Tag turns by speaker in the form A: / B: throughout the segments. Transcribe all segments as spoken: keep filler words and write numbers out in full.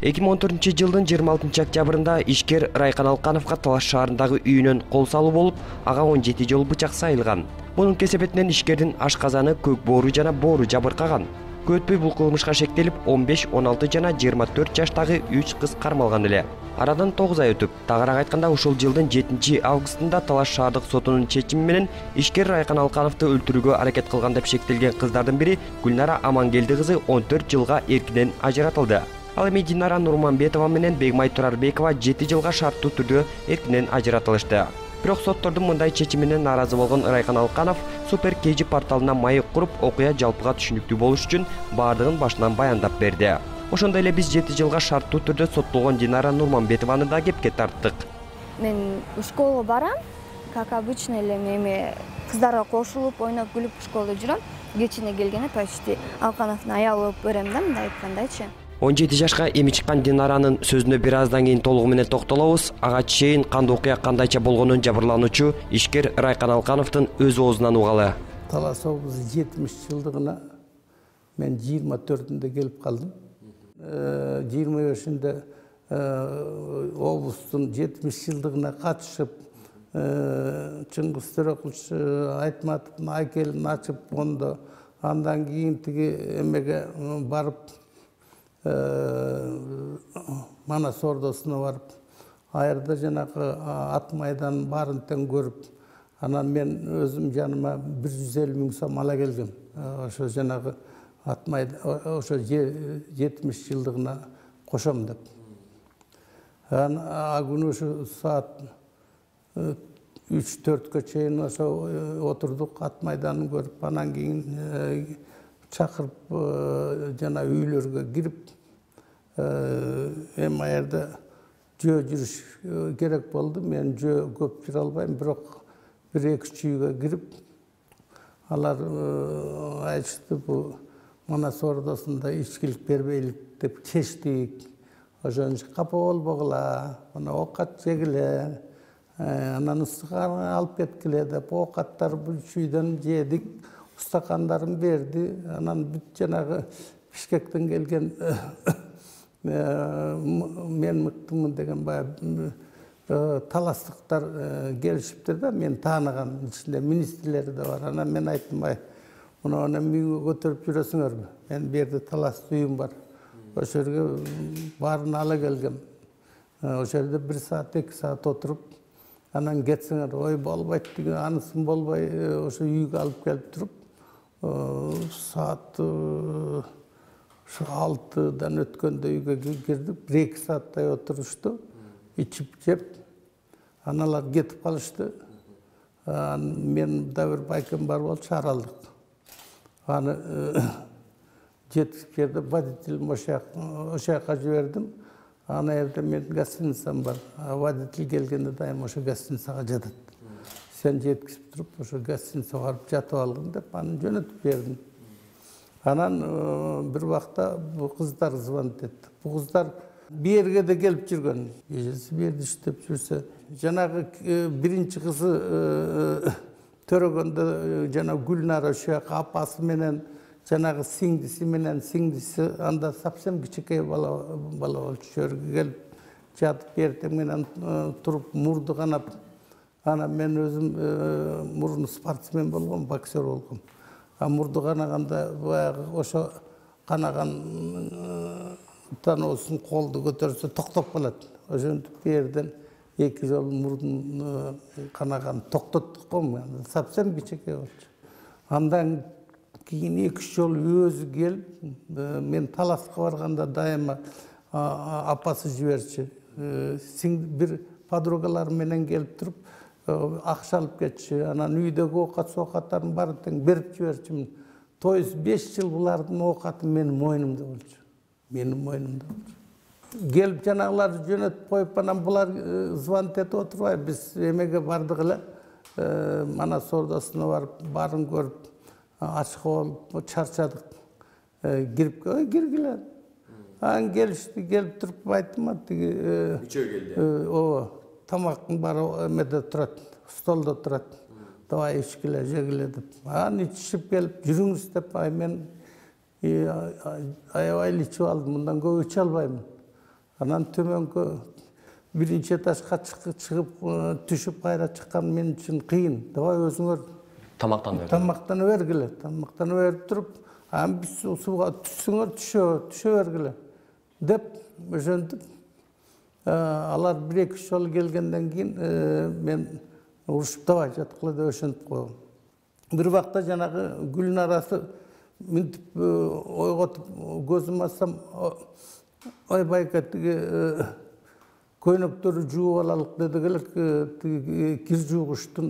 A: эки миң он төртүнчү жылдын жыйырма алтынчы октябрында ишкер Райкан Алкановго Талаш шаарындагы үйүнөн кол салуу болуп, ага он жети жолу бычак сайылган. Мунун кесепетинен ишкердин ашказаны, көк боору жана боору жабыркаган. Көп өтпөй бул кылмышка шектелип, он беш, он алты жана жыйырма төрт жаштагы үч кыз кармалган эле. Арадан тогуз ай өтүп, тагыраак айтканда ушул жылдын жетинчи августунда Талаш шаардык сотунун чечими менен ишкер Райкан Алкановду өлтүрүүгө аракет кылган деп шектелген кыздардын бири Гүлнара Амангелди кызы он төрт жылга эркинен ажыратылды. Ал эми Динара Нурманбетова менен Бегмай Турарбекова жети жылга шарттуу түрдө эркинен ажыратылышты. Бирок соттордун мындай чечиминен нааразы болгон Райкан Алканов Супер Кежи порталына маек куруп, окуя жалпыга түшүнүктүү болуш үчүн баардыгын башынан баяндап берди. Ошондой эле биз жети жылга шарттуу түрдө соттолгон Динара Нурманбетованы да кепке тарттык.
B: Мен школага барам, как обычно эле эми кыздарга кошулуп, ойноп, күлүп школада жүрөм. Кечине келгенде почти Алкановдун аялы болуп берем да, мындай айткандайчы.
A: он жети жашка эми чыккан Динаранын сөзүнө бир аздан кийин толугу менен токтолобуз. Ага чейин кандай окуя кандайча болгонун жабырлануучу ишкер Райкан Алкановдун өз оозунан угалы.
C: Талас облусу жетимиш жылдыгына мен жыйырма төртүндө келип калдым. жыйырма бешинде облустун жетимиш жылдыгына катышып, Чыңгыз Төрөкулчу Айтматовдун айкелин ачып, ондо андан кийин тиги эмеге барып, Манас ордосуна барып, айрда жанагы ат майданын баарын тең көрүп, анан мен өзүм жаныма бир жүз элүү миң сом ала келгем. Ошо жанагы ат майда, ошо жетимиш жылдыгына кошом деп. А күнү ошо саат үч төрткө чейин ошо отурдук, ат майданын көрүп, анан кийин чакырып жана үйлөргө кирип, эми аерде жөө жүрүш керек болду. Мен жөө көп жүрө албайм, бирок бир эки үч үйгө кирип, алар айтышты, бул Манас ордосунда ичкилик бербейлик деп чечтик. Ошон үчүн капа болбогула, мына оокат жегиле, анан ыстыганы алып кеткиле деп оокаттар бул үч үйдөн жедик. Устакандарын берди. Анан бүт жанагы Бишкектен келген мен мыктымын деген баягы таластыктар келишиптир да, мен тааныган, ичинде министрлери да бар. Анан мен айттым, бай, мына үйгө көтөрүп жүрөсүңөрбү? Мен бу жерде таластуу үйүм бар. Ошол жерге баарын ала келгем. Ошол жерде бир саат, эки саат отуруп, анан кетсеңер, ой болбойт деген, анысын болбой, ошо үйгө алып келип туруп, саат алтыдан өткөндө үйгө кирдик, бир эки сааттай отурушту, ичип жеп, аналар кетип калышты. Мен да бир байкем бар болчу, аралдык. Аны жетип жерде водителим ошол жака жибердим. Ана жерде менин гостиницам бар. Водитель келгенде дайым ошо гостиницага жатат. Сен жеткизип туруп, ошо гостиницага барып жатып алгын деп, аны жөнөтүп бердим. Анан бир убакта бу кыздар звонит этти. Бу кыздар бу жерге да келип жүргөн. Эжеси бу жерде иштеп жүрсө, жанагы биринчи кызы төрөгөндө жана Гүлнара ошо жака апасы менен, жанагы сиңдиси менен, сиңдиси анда совсем кичинекей бала бала болчу. Жерге келип жатып, эртең менен туруп мурду канап. Анан мен өзүм мурун спортсмен болгом, боксер болгом. А мурду канаганда баягы ошо канаган таноосун колду көтөрсө токтоп калат. Ошентип бу жерден эки жолу мурдун канаган токтоттук го, совсем кичинекей болчу. Андан кийин эки үч жолу өзү келип, мен таласка барганда дайыма апасы жиберчү. Бир подругалар менен келип туруп, акча алып кетчү. Анан үйдөгү оокат соокаттарын баарын тең берип жиберчүмүн. То есть беш жыл булардын оокаты менин мойнумда болчу. Менин мойнумда болчу. Келип жанагыларды жөнөтүп коюп, анан булар звонит этип отурбай, биз эмеге бардык эле. Манас ордосуна барып, баарын көрүп, ачык болуп, чарчадык. Кирип, ой, киргиле. Анан келишти, келип туруп айттым, тиги
A: Үчөө келди.
C: Ооба, тамактын баары эмеде турат, столдо турат. Давай ичкиле, жегиле деп. Анан ичишип келип, жүрүңүз деп, ай мен аябай ичип алдым, мындан көп иче албаймын. Анан төмөнкө биринчи этажга чыгып түшүп кайра чыккан мен үчүн кыйын. Давай өзүңөр
A: тамактанып
C: тамактанып бергиле. Тамактанып берип туруп, анан биз сууга түшсөңөр түшө, түшө бергиле деп ошентип алар бир эки жолу келгенден кийин мен урушуп давай жаткыла деп ошентип койгом. Бир убакта жанагы Гүлнарасы мынтип ойготуп көзүм ачсам, ой байка тиги көйнөктөрү жууп алалык дедик эле, тиги кир жуугучтун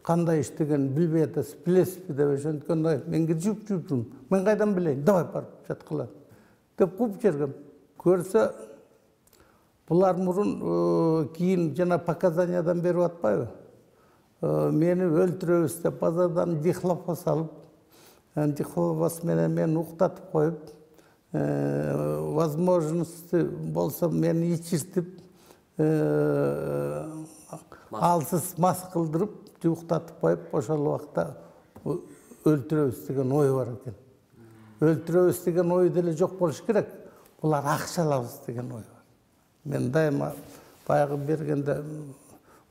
C: кандай иштегенин билбей атасыз, билесизби деп ошенткенде мен кир жууп жүрмүн. Мен кайдан билейин? Давай барып жаткыла деп кууп жибергем. Көрсө булар мурун кийин жана показаниядан берип атпайбы? Мени өлтүрөбүз деп базардан дихлофос алып, дихлофос менен мени уктатып коюп, возможности болсо мени ичиртип, алсыз мас кылдырып, уктатып коюп, ошол убакта өлтүрөбүз деген ой бар экен. Өлтүрөбүз деген ой деле жок болуш керек. Булар акча алабыз деген ой бар. Мен дайыма баягы бергенде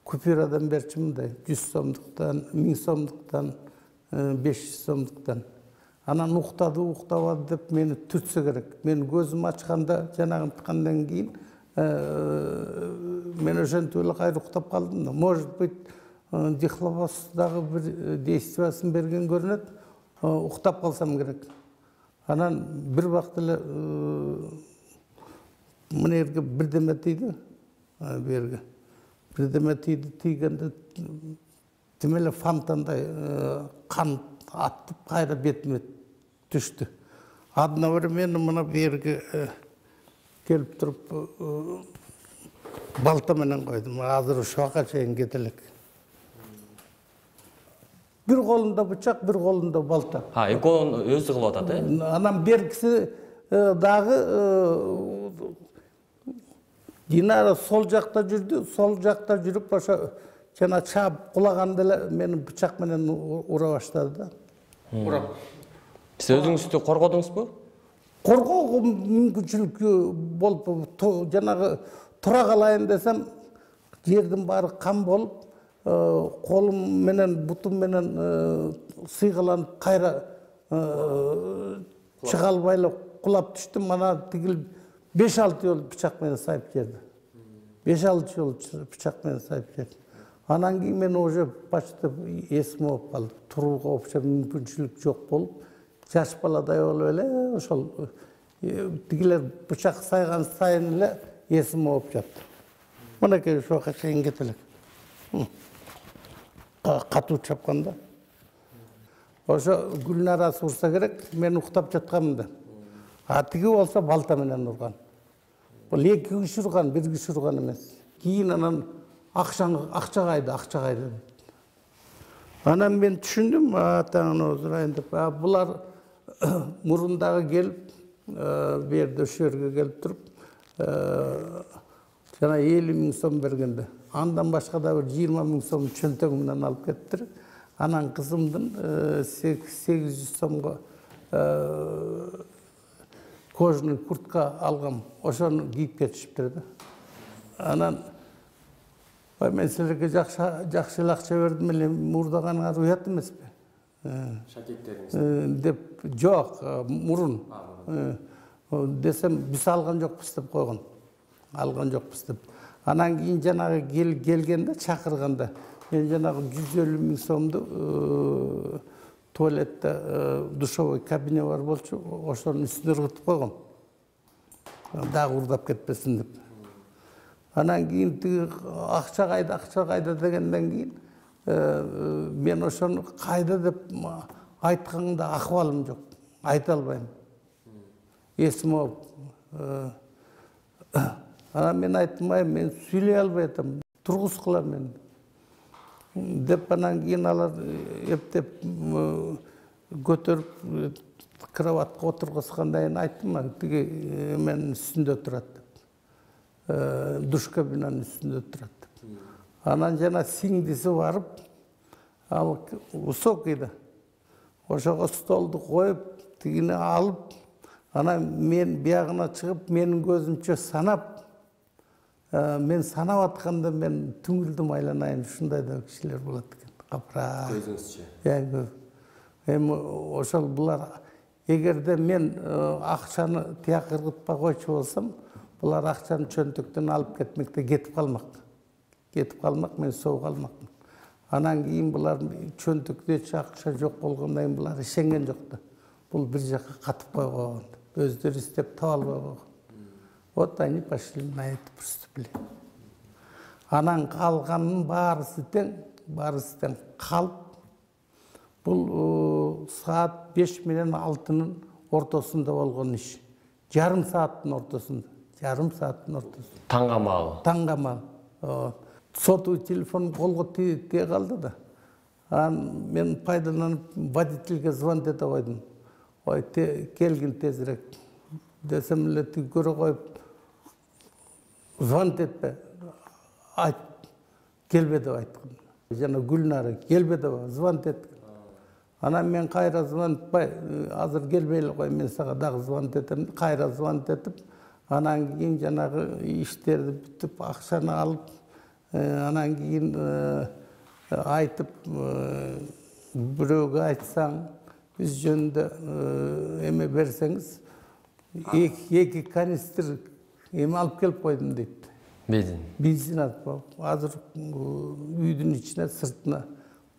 C: купюрадан берчү мындай жүз сомдуктан, миң сомдуктан, беш жүз сомдуктан. Анан уктады, уктабады деп мени түртсө керек. Мен көзүм ачканда жанагынткандан кийин мен ошентип эле кайра уктап калдым да. Может быть, дихлофос дагы бир действиясын берген көрүнөт. Уктап калсам керек. Анан бир убакта эле мына жерге бирдеме тийди, берге. Бирдеме тийди, тийгенде тим эле фонтандай кан аттып кайра бетиме түштү. Адына бир мени мына берге келип туруп балта менен койдум. Азыр ушуга чейин кете элек. Бир колунда бычак, бир колунда балта.
A: Ha, экөөнүн өзү кылып атат, э?
C: Анан бергиси дагы Динара сол жакта жүрдү, сол жакта жүрүп ошо жана чаап кулаганда эле мени бычак менен ура баштады да.
A: Урап. Сиз өзүңүздү коргодуңузбу?
C: Коргоого мүмкүнчүлүк болуп, жанагы тура калайын десем, жердин баары кан болуп, колум менен, бутум менен сыйгаланып кайра чыга албай эле кулап түштүм. Мана тигил беш алты жолу бычак менен сайып жерди. беш алты жолу бычак менен сайып жерди. Анан кийин мен уже почти эсим болуп калды. Турууга вообще мүмкүнчүлүк жок болуп, жаш баладай болуп эле ошол тигилер бычак сайган сайын эле эсим болуп жатты. Мынакей ушуга чейин кете элек. Катуу чапканда. Ошо Гүлнарасы урса керек, мен уктап жатканмын да. А тиги болсо балта менен урган. Бул эки киши урган, бир киши урган эмес. Кийин анан акча кайда, акча кайда. Анан мен түшүндүм, атаңын озурайын деп. Булар мурун дагы келип, бу жерде ошо жерге келип туруп, жана элүү миң сом бергенде. Андан башка да бир жыйырма миң сом чөнтөгүмдөн алып кеттир. Анан кызымдын сегиз жүз сомго кожаный куртка алгам. Ошону кийип кетишиптир да. Анан мен силерге жакшы эле акча бердим эле, мурдаганыңар уят эмеспи? Шакеттериңиз деп жок, мурун десем, биз алган жокпуз деп койгон. Алган жокпуз деп. Анан кийин жанагы келгенде, чакырганда мен жанагы жүз элүү миң сомду туалетте душевой кабине бар болчу, ошонун үстүнө ыргытып койгом. Дагы урдап кетпесин деп. Анан кийин тиги акча кайда, акча кайда дегенден кийин мен ошону кайда деп айтканда акыбалым жок. Айта албайм. Эсим болуп. Анан мен айттым, мен сүйлөй албай атам, тургузгула мени деп. Анан кийин алар эптеп көтөрүп кроватка отургузгандан кийин айттым, тиги менин үстүндө турат деп. Душ кабинанын үстүндө турат деп. Анан жана сиңдиси барып, ал высокий да. Ошого столду коюп, тигини алып, Анан мен биягына чыгып, менин көзүмчө санап, мен санап атканда мен түңүлдүм айланайын, ушундай да кишилер болот экен. Капра. Көзүңүзчө. Эми ошол булар эгерде мен акчаны тияк ыргытпай койчу болсом, булар акчаны чөнтөктөн алып кетмекте, кетип калмак. Кетип калмак, мен согуп калмакмын. Анан кийин булар чөнтөктө акча жок болгондон кийин булар ишенген жок да. Бул бир жакка катып койгон. Өздөрү издеп таба албай койгон. Вот они пошли на это преступление. Анан калганын баарысы тең, баарысы тең калып, бул саат беш менен алтынын ортосунда болгон иш. Жарым сааттын ортосунда. Жарым сааттын ортосунда.
A: Таңга маалы.
C: Таңга маалы. Сотовый телефон колго тие калды да. Анан мен пайдаланып водительге звонить ете койдум. Ой, келгин тезирээк. Десем эле тиги көрө коюп, звонить етпе, айт, келбе деп айткан. Жана Гүлнара, келбе деп звонить еткен. Анан мен кайра звонитпай, азыр келбей эле кой, мен сага дагы звонить этем, кайра звонить этип, анан кийин жанагы иштерди бүтүп, акчаны алып, анан кийин айтып, бирөөгө айтсаң, биз жөнүндө эме берсеңиз, эки канистр эме алып келип койдум дейт.
A: Бензин.
C: Бензин алып, азыр үйдүн ичине, сыртына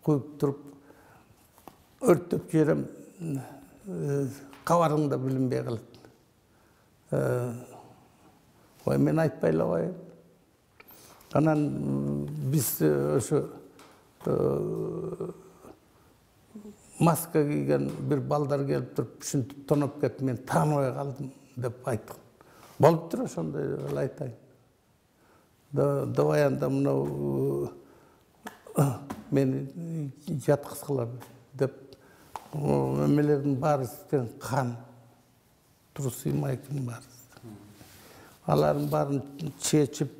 C: коюп туруп, өрттөп жиберем, кабарың да билинбей калат. Ой, мен айтпай эле коеюн. Анан биз ошо маска кийген бир балдар келип туруп, ушинтип тоноп кетип, мен тааныбай калдым деп айткан. Болуптур ошондой эле айтайын. Давай анда мынау мени жаткызгыла деп эмелердин баарысы тең кан, трусы, майканын баарысы. Алардын баарын чечип,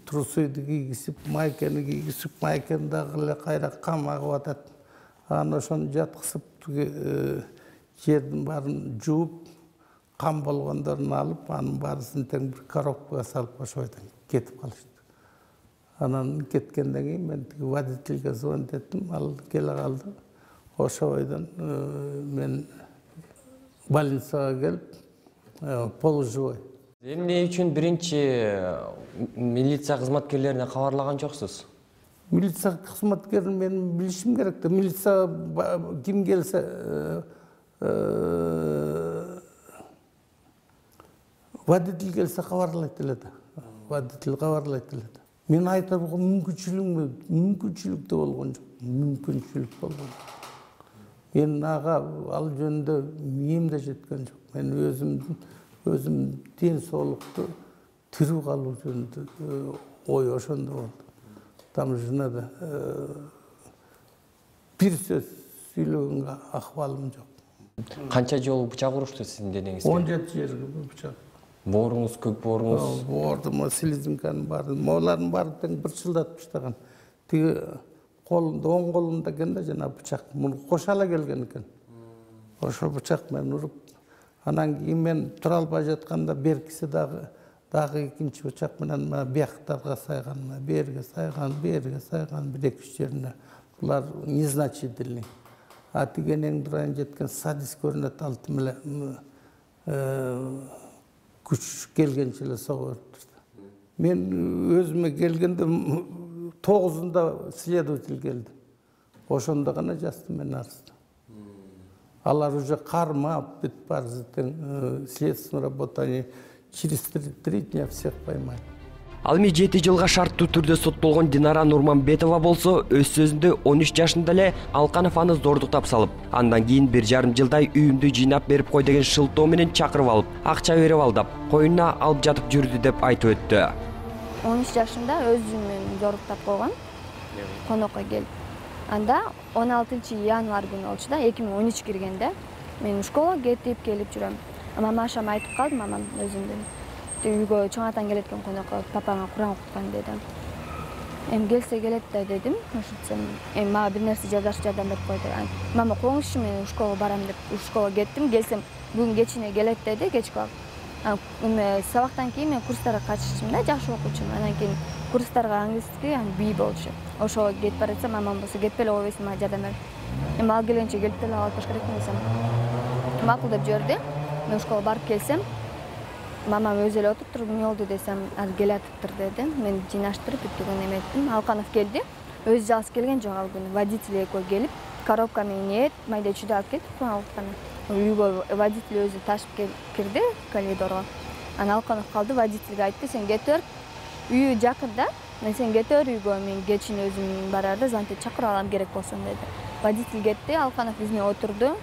C: трусуйду кийгизип, майканы кийгизип, майканы дагы эле кайра кам агып атат. Анан ошону жаткызып, жердин баарын жууп, кам болгондорун алып, анын баарысын тең бир коробкага салып, ошойдон кетип калышты. Анан кеткенден кийин мен тиги водительге звонить еттим, ал келе калды. Ошойдон мен больницага келип, полуживой.
A: Эмне үчүн биринчи милиция кызматкерлерине кабарлаган жоксуз?
C: Милиция кызматкерин мен билишим керек да. Милиция ким келсе, водитель келсе кабарлайт эле да. Водитель кабарлайт эле да. Мен айта болгон мүмкүнчүлүк, мүмкүнчүлүк да болгон жок. Мүмкүнчүлүк болгон. Мен ага ал жөнүндө миим да жеткен жок. Мен өзүмдүн өзүм ден соолукту тирүү калуу жөнүндө ой ошондо болду. Там жөнүндө бир сөз сүйлөгөнгө акыбалым жок.
A: Канча жолу бычак урушту сиздин денеңизге?
C: он жети жерге бычак.
A: Бооруңуз, көк бооруңуз?
C: Боордум, слезинканын баары, молардын баары тең бир жылдатып таштаган. Тиги колунда, оң колунда экен да жана бычак. Муну кошала келген экен. Ошо бычак менен уруп, анан кийин мен тура албай жатканда беркиси дагы дагы экинчи бычак менен бияктарга сайган, берге сайган, берге сайган, бир эки үч жерине. Булар незначительный. А тигенең дурайын жеткен садист көрүнөт, алтым эле күч келгенче эле сого бериптир. Мен өзүмө келгенде тогузунда следователь келди. Ошондо гана жаздым мен арызды. Алар уже кармап, бүт барысы тең следственный работа, они через три дня всех поймали.
A: Ал эми жети жылга шарттуу түрдө соттолгон Динара Нурманбетова болсо, өз сөзүндө он үч жашында эле Алканов аны зордуктап салып, андан кийин бир жарым жылдай үйүмдү жыйнап берип кой деген шылтоо менен чакырып алып, акча берип алдап, коюнуна алып жатып жүрдү деп айтып өттү.
B: он үч жашында өзүмөн зордуктап койгон, конокко келип. Анда он алтынчы январь күнү болчу да, эки миң он үч киргенде мен школага кетип келип жүрөм. Мамашам айтып калды, мамам өзүмдүн. Үйгө чоң атаң келет экен конокко, папаңа Куран окуткан деди. эми келсе келет да дедим. Ошентсем эми мага бир нерсе жаздырып жардам берип койду. Мама коңузчу, мен школага барам деп школага кеттим. Келсем бүгүн кечине келет деди, кечки убакыт. Эми сабактан кийин мен курстарга катышчумун да, жакшы окуучумун. Анан кийин курстарга английский, аны би болчу. Ошого кетип баратсам, мамам болсо кетпей эле койбойсуң, мага жардам бер. Эми ал келгенче келип деле алып баш керекмин десем, макул деп жиберди. Мен школага барып келсем, мамам өзү эле отуруптур, эмне болду десем, азыр келатыптыр деди. Мен жыйнаштырып бүттүгүн эметтим. Алканов келди. Өзү жалгыз келген жок ал күнү. Водитель экөө келип, коробка менен эт, майда чүйдө алып келип кутканы. Үйгө водитель өзү ташып кирди коридорго. Анан Алканов калды, водительге айтты, сен кете бер. Үйү жакында, мен сен кете бер үйгө, мен кечин өзүм барарда зантип чакырып алам керек болсо деди. Водитель кетти, Алканов бизине отурду.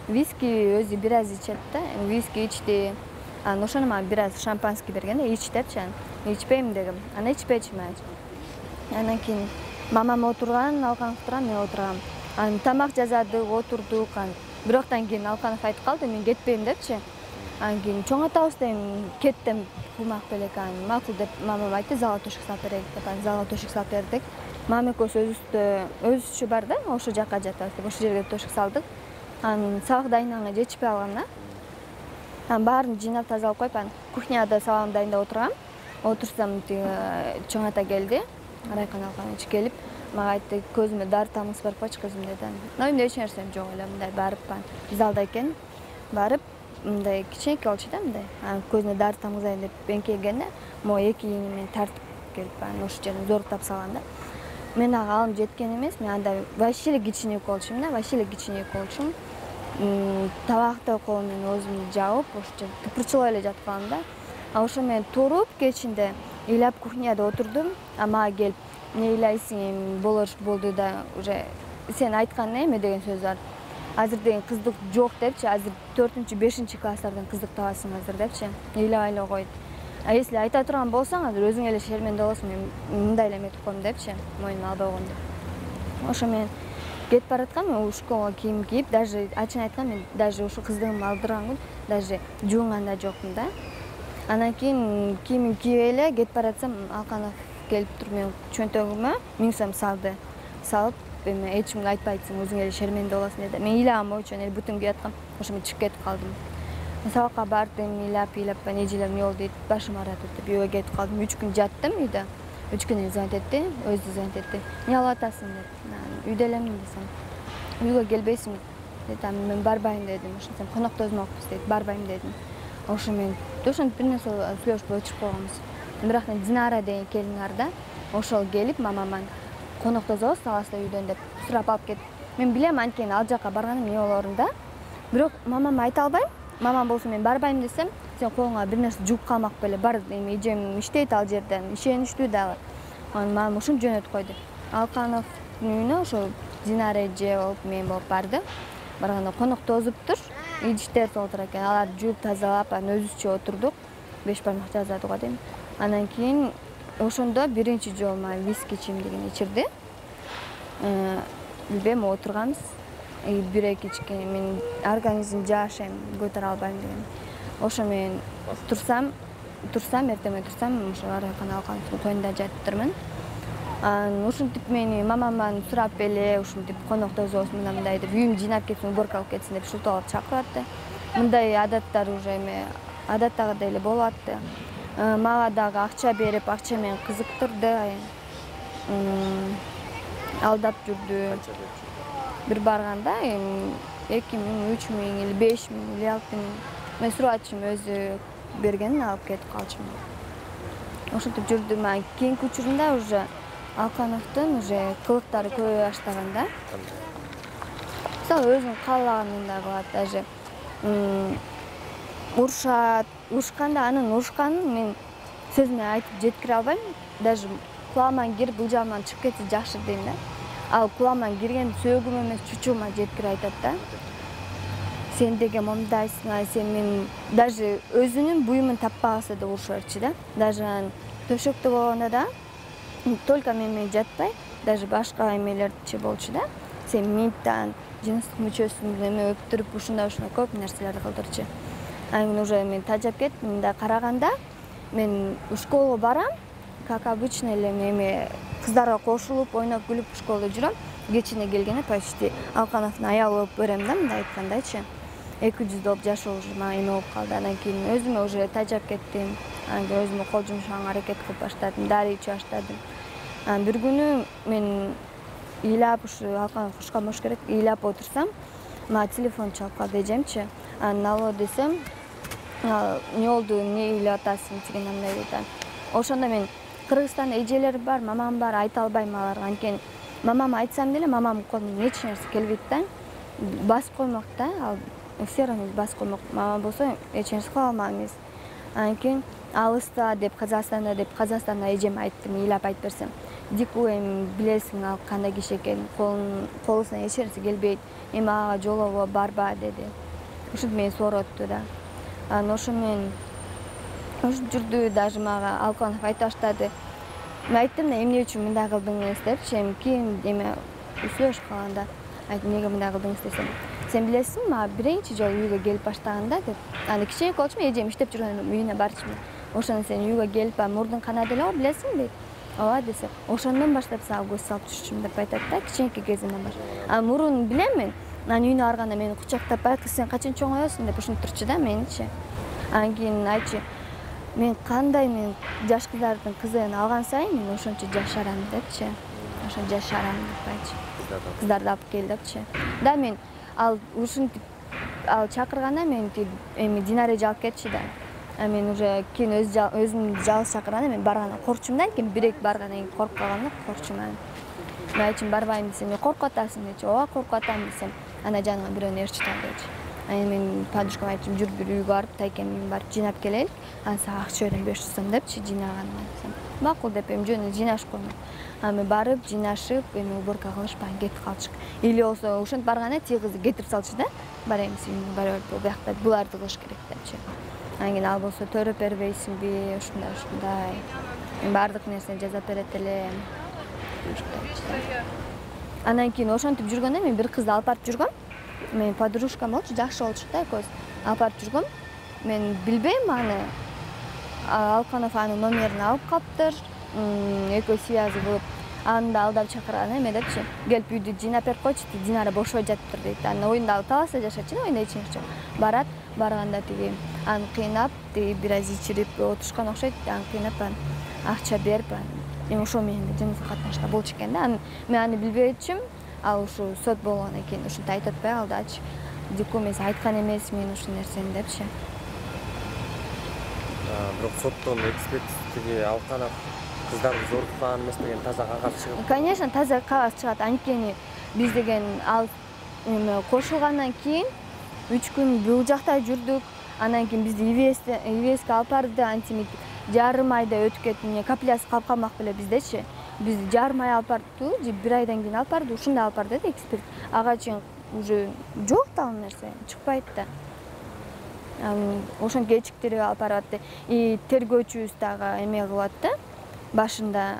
B: Виски өзү бир аз ичет да, виски ичти. Анан ошону мага бир аз шампанский берген да, ич депчи. Мен ичпейм дегем. Анан ичпечүмүн. Анан кийин мамам отурган, Алканов турган, мен отургам. Анан тамак жасадык, отурдук. Бироктан кийин Алканов айтып калды, мен кетпейм депчи. Анан кийин чоң атабыз дейм, кеттим кулмак белек. Анан макул деп мамам айтты, залга төшөк салып берейик деп. Анан залга төшөк салып бердик. Мама экөөбүз өзүбүздө өзүчө бар да, ошол жака жатабыз деп ошол жерге төшөк салдык. Анан сабак дайынданганга жетишпей калгам да. Анан баарын жыйнап тазалап коюп, анан кухняда сабагымды дайындап отургам. Отурсам чоң ата келди, Райкан Алканович келип, мага айтты, көзүмө дары тамгысы барып койчу кызым деди. Но эмне эч нерсем жок эле, мындай барып залда экен, барып мындай кичинекей болчу да, мындай. Анан көзүнө дары тамгызайын деп эңкейгенде, могу эки ийини менен тартып келип, анан ошол жерден зоруктап салган да. Мен ага алым жеткен эмес, мен анда вообще эле кичинек болчумун да, вообще эле кичинек болчумун. Табакты колум менен оозумду жаап, ошол жерде тыпырчылап эле жатып калдым да. А ошо мен туруп кечинде ыйлап кухняда отурдум, а мага келип, эмне ыйлайсың, эми болор болду да, уже сен айткан эме деген сөз бар. Азыр деген кыздык жок депчи, азыр төртүнчү, бешинчи класстардан кыздык табасың азыр депчи. Ыйлабай эле койду. А если айта турган болсоң, азыр өзүң эле шерменде болосуң, мен мындай эле эметип койдум депчи, моюнума албай койгон деп. Ошо мен кетип бараткам, мен школага кийим кийип, даже ачыгын айтканда, мен даже ушу кыздыгымды алдырган күн даже жуунган да жокмун да. Анан кийин кийимимди кийип эле кетип баратсам, Алканов келип туруп менин чөнтөгүмө миң сом салды. Салып, эми эч кимге айтпайсың, өзүң эле шерменде болосуң деди. Мен ыйлаган боюнча эле бүтүн кийип аткам, ошо мен чыгып кетип калдым. Сабакка бардым, ыйлап, ыйлап, нежелер эмне болду дейт, башым ааратып деп үйгө кетип калдым. үч күн жаттым үйдө. үч күнөн звонить этти, өзү звонить этти. Эмне кылып атасың деп. Үйдө элемин десем. Үйгө келбейсиңби деди. Мен барбайм дедим. Ошентсем конокто өзмөкпүз дейт. Барбайм дедим. Ошо мен ошентип бир нерсе сүйлөшүп өчүрүп койгонбуз. Бирок Динара деген келин бар да. Ошол келип мамаман конокто өзөбүз саласта үйдөн деп сурап алып кетти. Мен билем анткени ал жака барганым эмне болорун да. Бирок мамама айта албайм. Мамам болсо мен барбайм десем, сен колуңа бир нерсе жугуп калмак беле, бар эми эжем иштейт ал жерде, ишеничтүү дагы. Анан мамам ушинтип жөнөтүп койду. Алкановдун үйүнө ошо Динара эже болуп, мен болуп барды. Барганда конокто озуптур, идиштер отура экен. Аларды жууп тазалап, анан өзүбүзчө отурдук. Беш бармак жаздык го дейм. Анан кийин ошондо биринчи жолу мага виски ичем деген ичирди. Э, билбейм, отурганбыз. бир эки ичкен, мен организм жашайм, көтөрө албайм деген. Ошо мен турсам, турсам, эртең турсам, ошо Райкан Алкановдун тоюнда жатыптырмын. Анан ушинтип мени мамаман сурап эле, ушинтип конокто өзөбүз мына мындай деп, үйүмдү жыйнап кетсин, уборка кылып кетсин деп шурталап чакырып атты. Мындай адаттар уже эме адаттагыдай эле болуп атты. Мага дагы акча берип, акча менен кызыктырды. Алдап жүрдү. Бир барганда эми эки миң, үч миң или беш миң или алты миң. Мен сурачым өзү бергенин алып кетип калчумун. Ошентип жүрдүм. Кийинки учурунда уже Алкановдун уже кылыктары көбөйө баштаган да. Мисалы өзүн каалаганындай кылат, даже урушат, урушканда анын урушканын мен сөз менен айтып жеткире албайм. Даже кулагыман кирип, быжалыман чыгып кетсе жакшы дейм да. Ал кулагыман кирген сөөгүм эмес, чучугума жеткирип айтат да. Сен деген мондайсың, сен мен даже өзүнүн буюмун таппагысы да урушуп берчү да. Даже төшөктө болгондо да только мен менен жатпай, даже башка эмелерчи болчу да. Сен минттан жыныстык мүчөсүн эме өптүрүп, ушундай ушундай көп нерселерди кылдырчу. Анан уже мен тажап кеттим, мындай караганда мен школага барам, как обычно эле эме кыздарга кошулуп ойноп күлүп школдо жүрөм. Кечине келгенде почти Алкановдун аялы болуп көрөм да, мындай айткандайчы. эки жүз болуп жашоо уже мага эме болуп калды. Андан кийин өзүмө уже тажап кеттим. Анан кийин өзүмө кол жумшаганга аракет кылып баштадым, дарый ичип баштадым. Анан бир күнү мен ыйлап ушу Алканов кушкан болуш керек, ыйлап отурсам, мага телефон чалып калды эжемчи. Анан алло десем, эмне болду, эмне ыйлап атасың деген андай дейт. Ошондо мен Кыргызстанда эжелер бар, мамам бар, айта албайм аларга. Анткени мамама айтсам деле мамамдын колунан эч нерсе келбейт да. Басып коймок да, ал все равно басып коймок. Мама болсо эч нерсе кыла алмак эмес. Анан кийин алыста деп Казакстанда деп Казакстанда эжеме айттым, ыйлап айтып берсем. Дику эми билесиң ал кандай киши экенин, колунан эч нерсе келбейт. Эми ага жолообо барба деди. Ушинтип мени соротту да. Анан ошо менен ушинтип жүрдү, даже мага Алканов айта баштады. Мен айттым да, эмне үчүн мындай кылдыңыз депчи, эми кийин эме сүйлөшүп калганда айттым, эмнеге мындай кылдыңыз десем. Сен билесиңби, мага биринчи жолу үйгө келип баштаганда деп. Аны кичине болчумун, эжем иштеп жүргөн үйүнө барчумун. Ошондо сен үйгө келип, мурдуң канат эле го, билесиңби дейт. Ооба десем, ошондон баштап сага көз салып түшчүмүн деп айтат да, кичинекей кезимден баштап. А мурун билем мен, анан үйүнө барганда мени кучактап, "Кыз сен качан чоңоесуң?" деп ушинтип турчу да меничи. Анан кийин айтчу, мен кандай мен жаш кыздардын кызын алган сайын мен ошончо жашарам депчи. Ошо жашарам деп айтчу. Кыздарды алып кел депчи. Да мен ал ушинтип ал чакырганда мен эми Динаре алып кетчи да. А мен уже кийин өз өзүм жалгыз чакырганда мен баргандан коркчумун да, анткени бирек баргандан кийин коркуп калганда коркчумун. Мен айтчумун, барбайм десем, коркуп атасың дечи. Ооба коркуп атам десем, ана жаныңа бирөөнү ээрчитип ал дечи. Анан мен подружкама айттым, жүр бир үйгө барып, тайкем үйүн барып жыйнап келели. Анан сага акча берем беш жүз сом депчи жыйнаганга десем. Макул деп эми жөн эле жыйнашып коймун. Анан мен барып жыйнашып, эми уборка кылышып анан кетип калчык. Или болсо ошентип барганда тиги кызды кетирип салчу да. Бар эми сен барып бул жакта буларды кылыш керек депчи. Анан кийин ал болсо төрөп бербейсиңби, ушундай ушундай. Мен баардык нерсени жасап берет элем. Андан кийин ошентип жүргөндө мен бир кызды алып барып жүргөм. Мен подружкам болчу, жакшы болчу да экөөбүз. Алып барып жүргөм. Мен билбейм аны. Алканов анын номерин алып калыптыр. Экөө связь кылып, аны да алдап чакырган эме депчи. Келип үйдү жыйнап берип койчу, Динара бошой жатыптыр дейт. Анан оюнда таласа жашачу, оюнда эч нерсе жок. Барат, барганда тиги аны кыйнап, тиги бир аз ичирип отурушкан окшойт. Аны кыйнап, акча берип, эми ошо менен жыныстык катнашта болчу экен да. Мен аны билбейчүмүн. Ал ушу сот болгондон кийин ушинтип айтып атпай калдычы. Дику мен айткан эмесмин ушул нерсени депчи.
A: Бирок соттон экспертизи Алканов кыздарды зоруткан эмес деген таза кагаз чыгып.
B: Конечно, таза кагаз чыгат. Анткени биз деген ал эме кошулгандан кийин үч күн бул жакта жүрдүк. Андан кийин бизди ивеске ивеске алып барды, антимит жарым айда өтүп кетти. Капляс калып калмак беле биздечи. Бизди жарым ай алып барды, же бир айдан кийин алып барды, ушундай алып барды да эксперт. Ага чейин уже жок да ал нерсе, чыкпайт да. Анан ошон кечиктирип алып баратты. И тергөөчүбүз дагы эме кылат да. Башында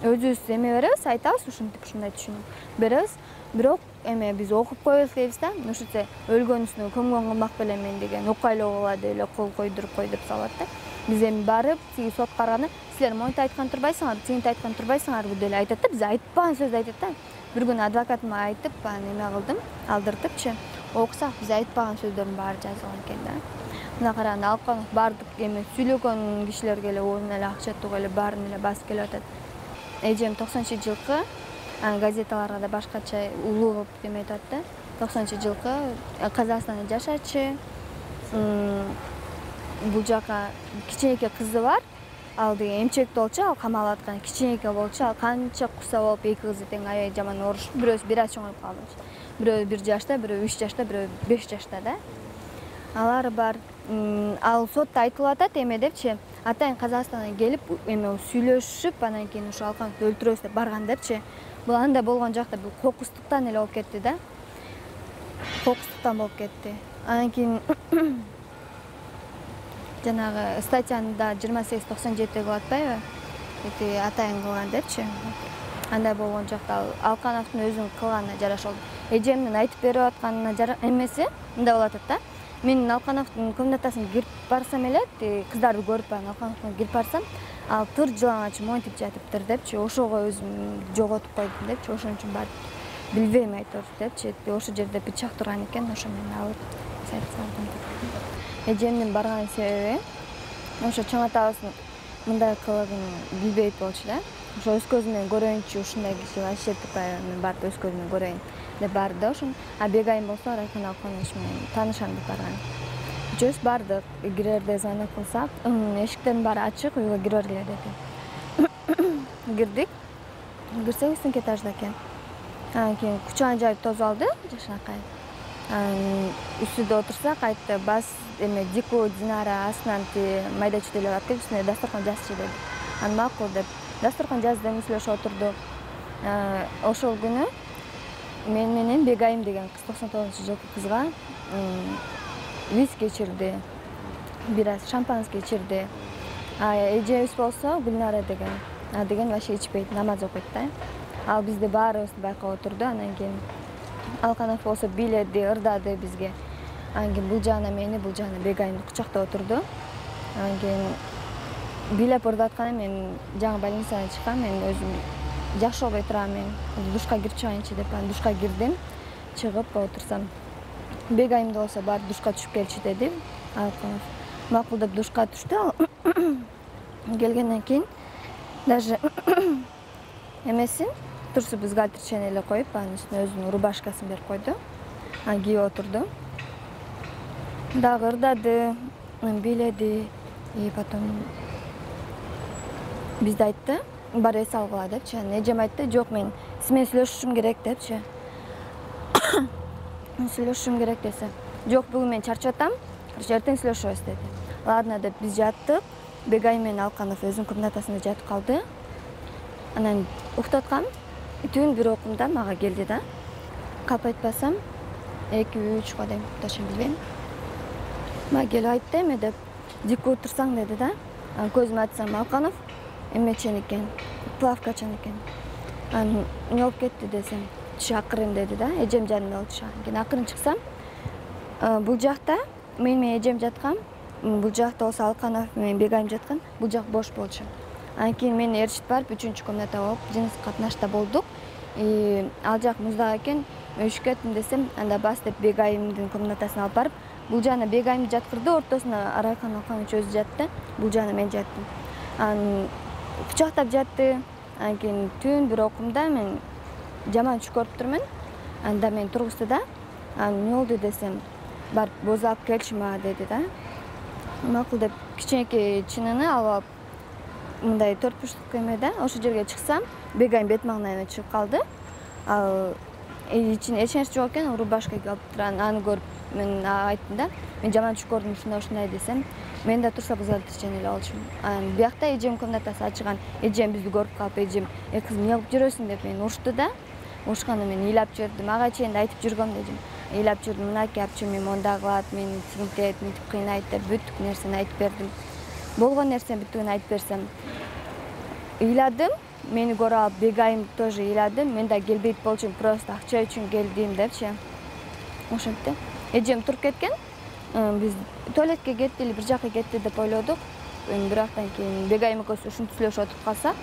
B: өзүбүз эме беребиз, айтабыз, ушинтип ушундай түшүнүк беребиз. Бирок эме биз окуп коебуз дейбиз да. Ушунча өлгөн үстүнө көмгөн кылмак белемен деген укайлоого деп эле кол койдуруп кой деп салат да. Биз эми барып, тиги сот караганда, силер монтип айткан турбайсыңар, тигинтип айткан турбайсыңарбы деп эле айтат да. Биз айтпаган сөздү айтат да. Бир күнү адвокатыма айтып, анан эме кылдым, алдыртыпчы. Окусак биз айтпаган сөздөрдүн баары жазылган экен да. Мына караганда Алканов баардык эме сүйлөгөн кишилерге эле оюна эле акча тугуп эле баарын эле басып келип атат. Эжем токсонунчу жылкы, анан газеталарга да башкача улуу кылып эме айтат да. токсонунчу жылкы Казакстанда жашачы. Бул жака кичинекей кызы бар. Ал деген эмчек болчу, ал камалып аткан кичинекей болчу. Ал канча куса болуп эки кызы тең аябай жаман урушуп, бирөөсү бир аз чоңоюп калды. Бирөө бир жашта, бирөө үч жашта, бирөө беш жашта да. Алар бар. Ал сотто айтылып атат эме депчи. Атайын Казакстандан келип эме сүйлөшүп, анан кийин ушу Алкановду өлтүрөбүз деп барган депчи. Бул андай болгон жакта бул кокустуктан эле болуп кетти да. Кокустуктан болуп кетти. Анан кийин жанагы статьяны жыйырма сегиз токсон жети кылып атпайбы? Эти атайын кылган депчи. Андай болгон жакта Алкановдун өзүнүн кылганына жараша болду. Эжемдин айтып берип атканына эмеси мындай болуп атат да. Мен Алкановдун комнатасына кирип барсам эле, кыздарды көрүп барам, Алкановдун кирип барсам, ал тыр жылаңач монтип жатыптыр депчи, ошого өзүм жоготуп койдум депчи, ошон үчүн барып билбейм айтор депчи, ошол жерде бычак турган экен, ошо менен алып сайып салдым. Эжемдин барган себеби ошо чоң атабыздын мындай кылыгын билбейт болчу да. Ошо өз көзүм менен көрөйүнчү, ушундай киши вообще тупай, мен барып өз көзүм менен көрөйүн деп барды ошон. А Бегайым болсо Райкан Алканович менен таанышам деп барган. Үчөөбүз бардык, кирерде звонок кылсак, эшиктердин баары ачык, үйгө кире бергиле деди. Кирдик. Кирсек үстүнкү этажда экен. Анан кийин кучагын жайып тосуп алды, жашынакай. Анан үстүдө отурсак, айтты, бас эме Дику, Динара астынан майда чүйдөлөп алып келип, үстүнө дасторкон жазчы деди. Анан макул деп дасторкон жазды, эмизлешип отурдук. Ошол күнү мен менен Бегайым деген кыз, токсон тогузунчу жылкы кызга виски ичирди, бир аз шампанский ичирди. А эжебиз болсо Гүлнара деген, а деген вообще ичпейт, намаз окуйт да. Ал бизди баарыбызды байкап отурду. Анан кийин Алканов болсо бийледи, ырдады бизге. Анан кийин бул жагына мени, бул жагына Бегайымды кучактап отурду. Анан кийин бийлеп ырдатканда мен жаңы больницадан чыккам, мен өзүм жакшы болбой турам, мен душка кирип чыгайынчы деп, анан душка кирдим. Чыгып отурсам, Бегайымды болсо бар душка түшүп келчи деди Алканов. Макул деп душка түштү. Келгенден кийин даже эмесин турсу бюстгальтер эле коюп, анын үстүнө өзүнүн рубашкасын берип койду. Анан кийип отурду. Дагы ырдады, бийледи. И потом бизди айтты, бар эс алгыла депчи. Анан эжем айтты, жок, мен сиз менен сүйлөшүшүм керек депчи. Сүйлөшүшүм керек десе, жок, бүгүн мен чарчап атам, эртең сүйлөшөбүз деди. Ладно деп биз жаттык. Бегайым менен Алканов өзүнүн комнатасында жатып калды. Анан уктаткам, түн бир окумда мага келди да. Калп айтпасам эки үч го дейм, точно билбейм. Мага келип айтты, эме деп, Дику турсаң деди да. Анан көзүмө ачсам, Алканов эмечен экен, плавкачан экен. Анан эмне болуп кетти десем, түшү акырын деди да, эжем жанымда болчу. Кийин акырын чыксам, бул жакта мен менен эжем жаткан, бул жакта болсо Алканов менен Бегайым жаткан, бул жак бош болчу. Анан кийин мени ээрчитип барып үчүнчү комната болуп, жыныс катнашта болдук. И ал жак муздак экен, өшүп кеттим десем, анда бас деп Бегайымдын комнатасына алып барып, бул жагына Бегайымды жаткырды, ортосуна Райкан Алканович өзү жатты, бул жагына мен жаттым. Анан кучактап жатты. Анан кийин түн бир окумда мен жаман түш көрүп турмун. Анда мен тургузду да, анан эмне болду десем, барып боз алып келчи мага деди да. Макул деп кичинекей чынаны алып алып, мындай төрт бурчтук эмеде, ошол жерге чыксам, Бегайым бет маңдайына чыгып калды. Ал ичинде эч нерсе жок экен, рубашка кийип турган, аны көрүп мен айттым да, мен жаман түш көрдүм, ушундай ушундай десем, мен да турса бюстгальтер эле болчумун. Анан биякта эжем комнатасы ачылган, эжем бизди көрүп калып, эжем, "Э кыз, эмне кылып жүрөсүң?" деп мени урушту да. Урушканда мен ыйлап жүрдүм, ага чейин да айтып жүргөм дедим. Ыйлап жүрдүм, мынакей апчы, мен мондай кылат, мени тинтет, мынтип кыйнайт деп бүт нерсени айтып бердим. Болгон нерсени бүттүгүн айтып берсем, ыйладым, мени көрүп алып Бегайым тоже ыйлады, мен да келбейт болчумун, просто акча үчүн келдим депчи. Ошентти. Эжем туруп кеткен. Биз туалетке кетти или бир жака кетти деп ойлодук. Бирактан кийин Бегайым экөөбүз ушинтип сүйлөшүп отуруп калсак,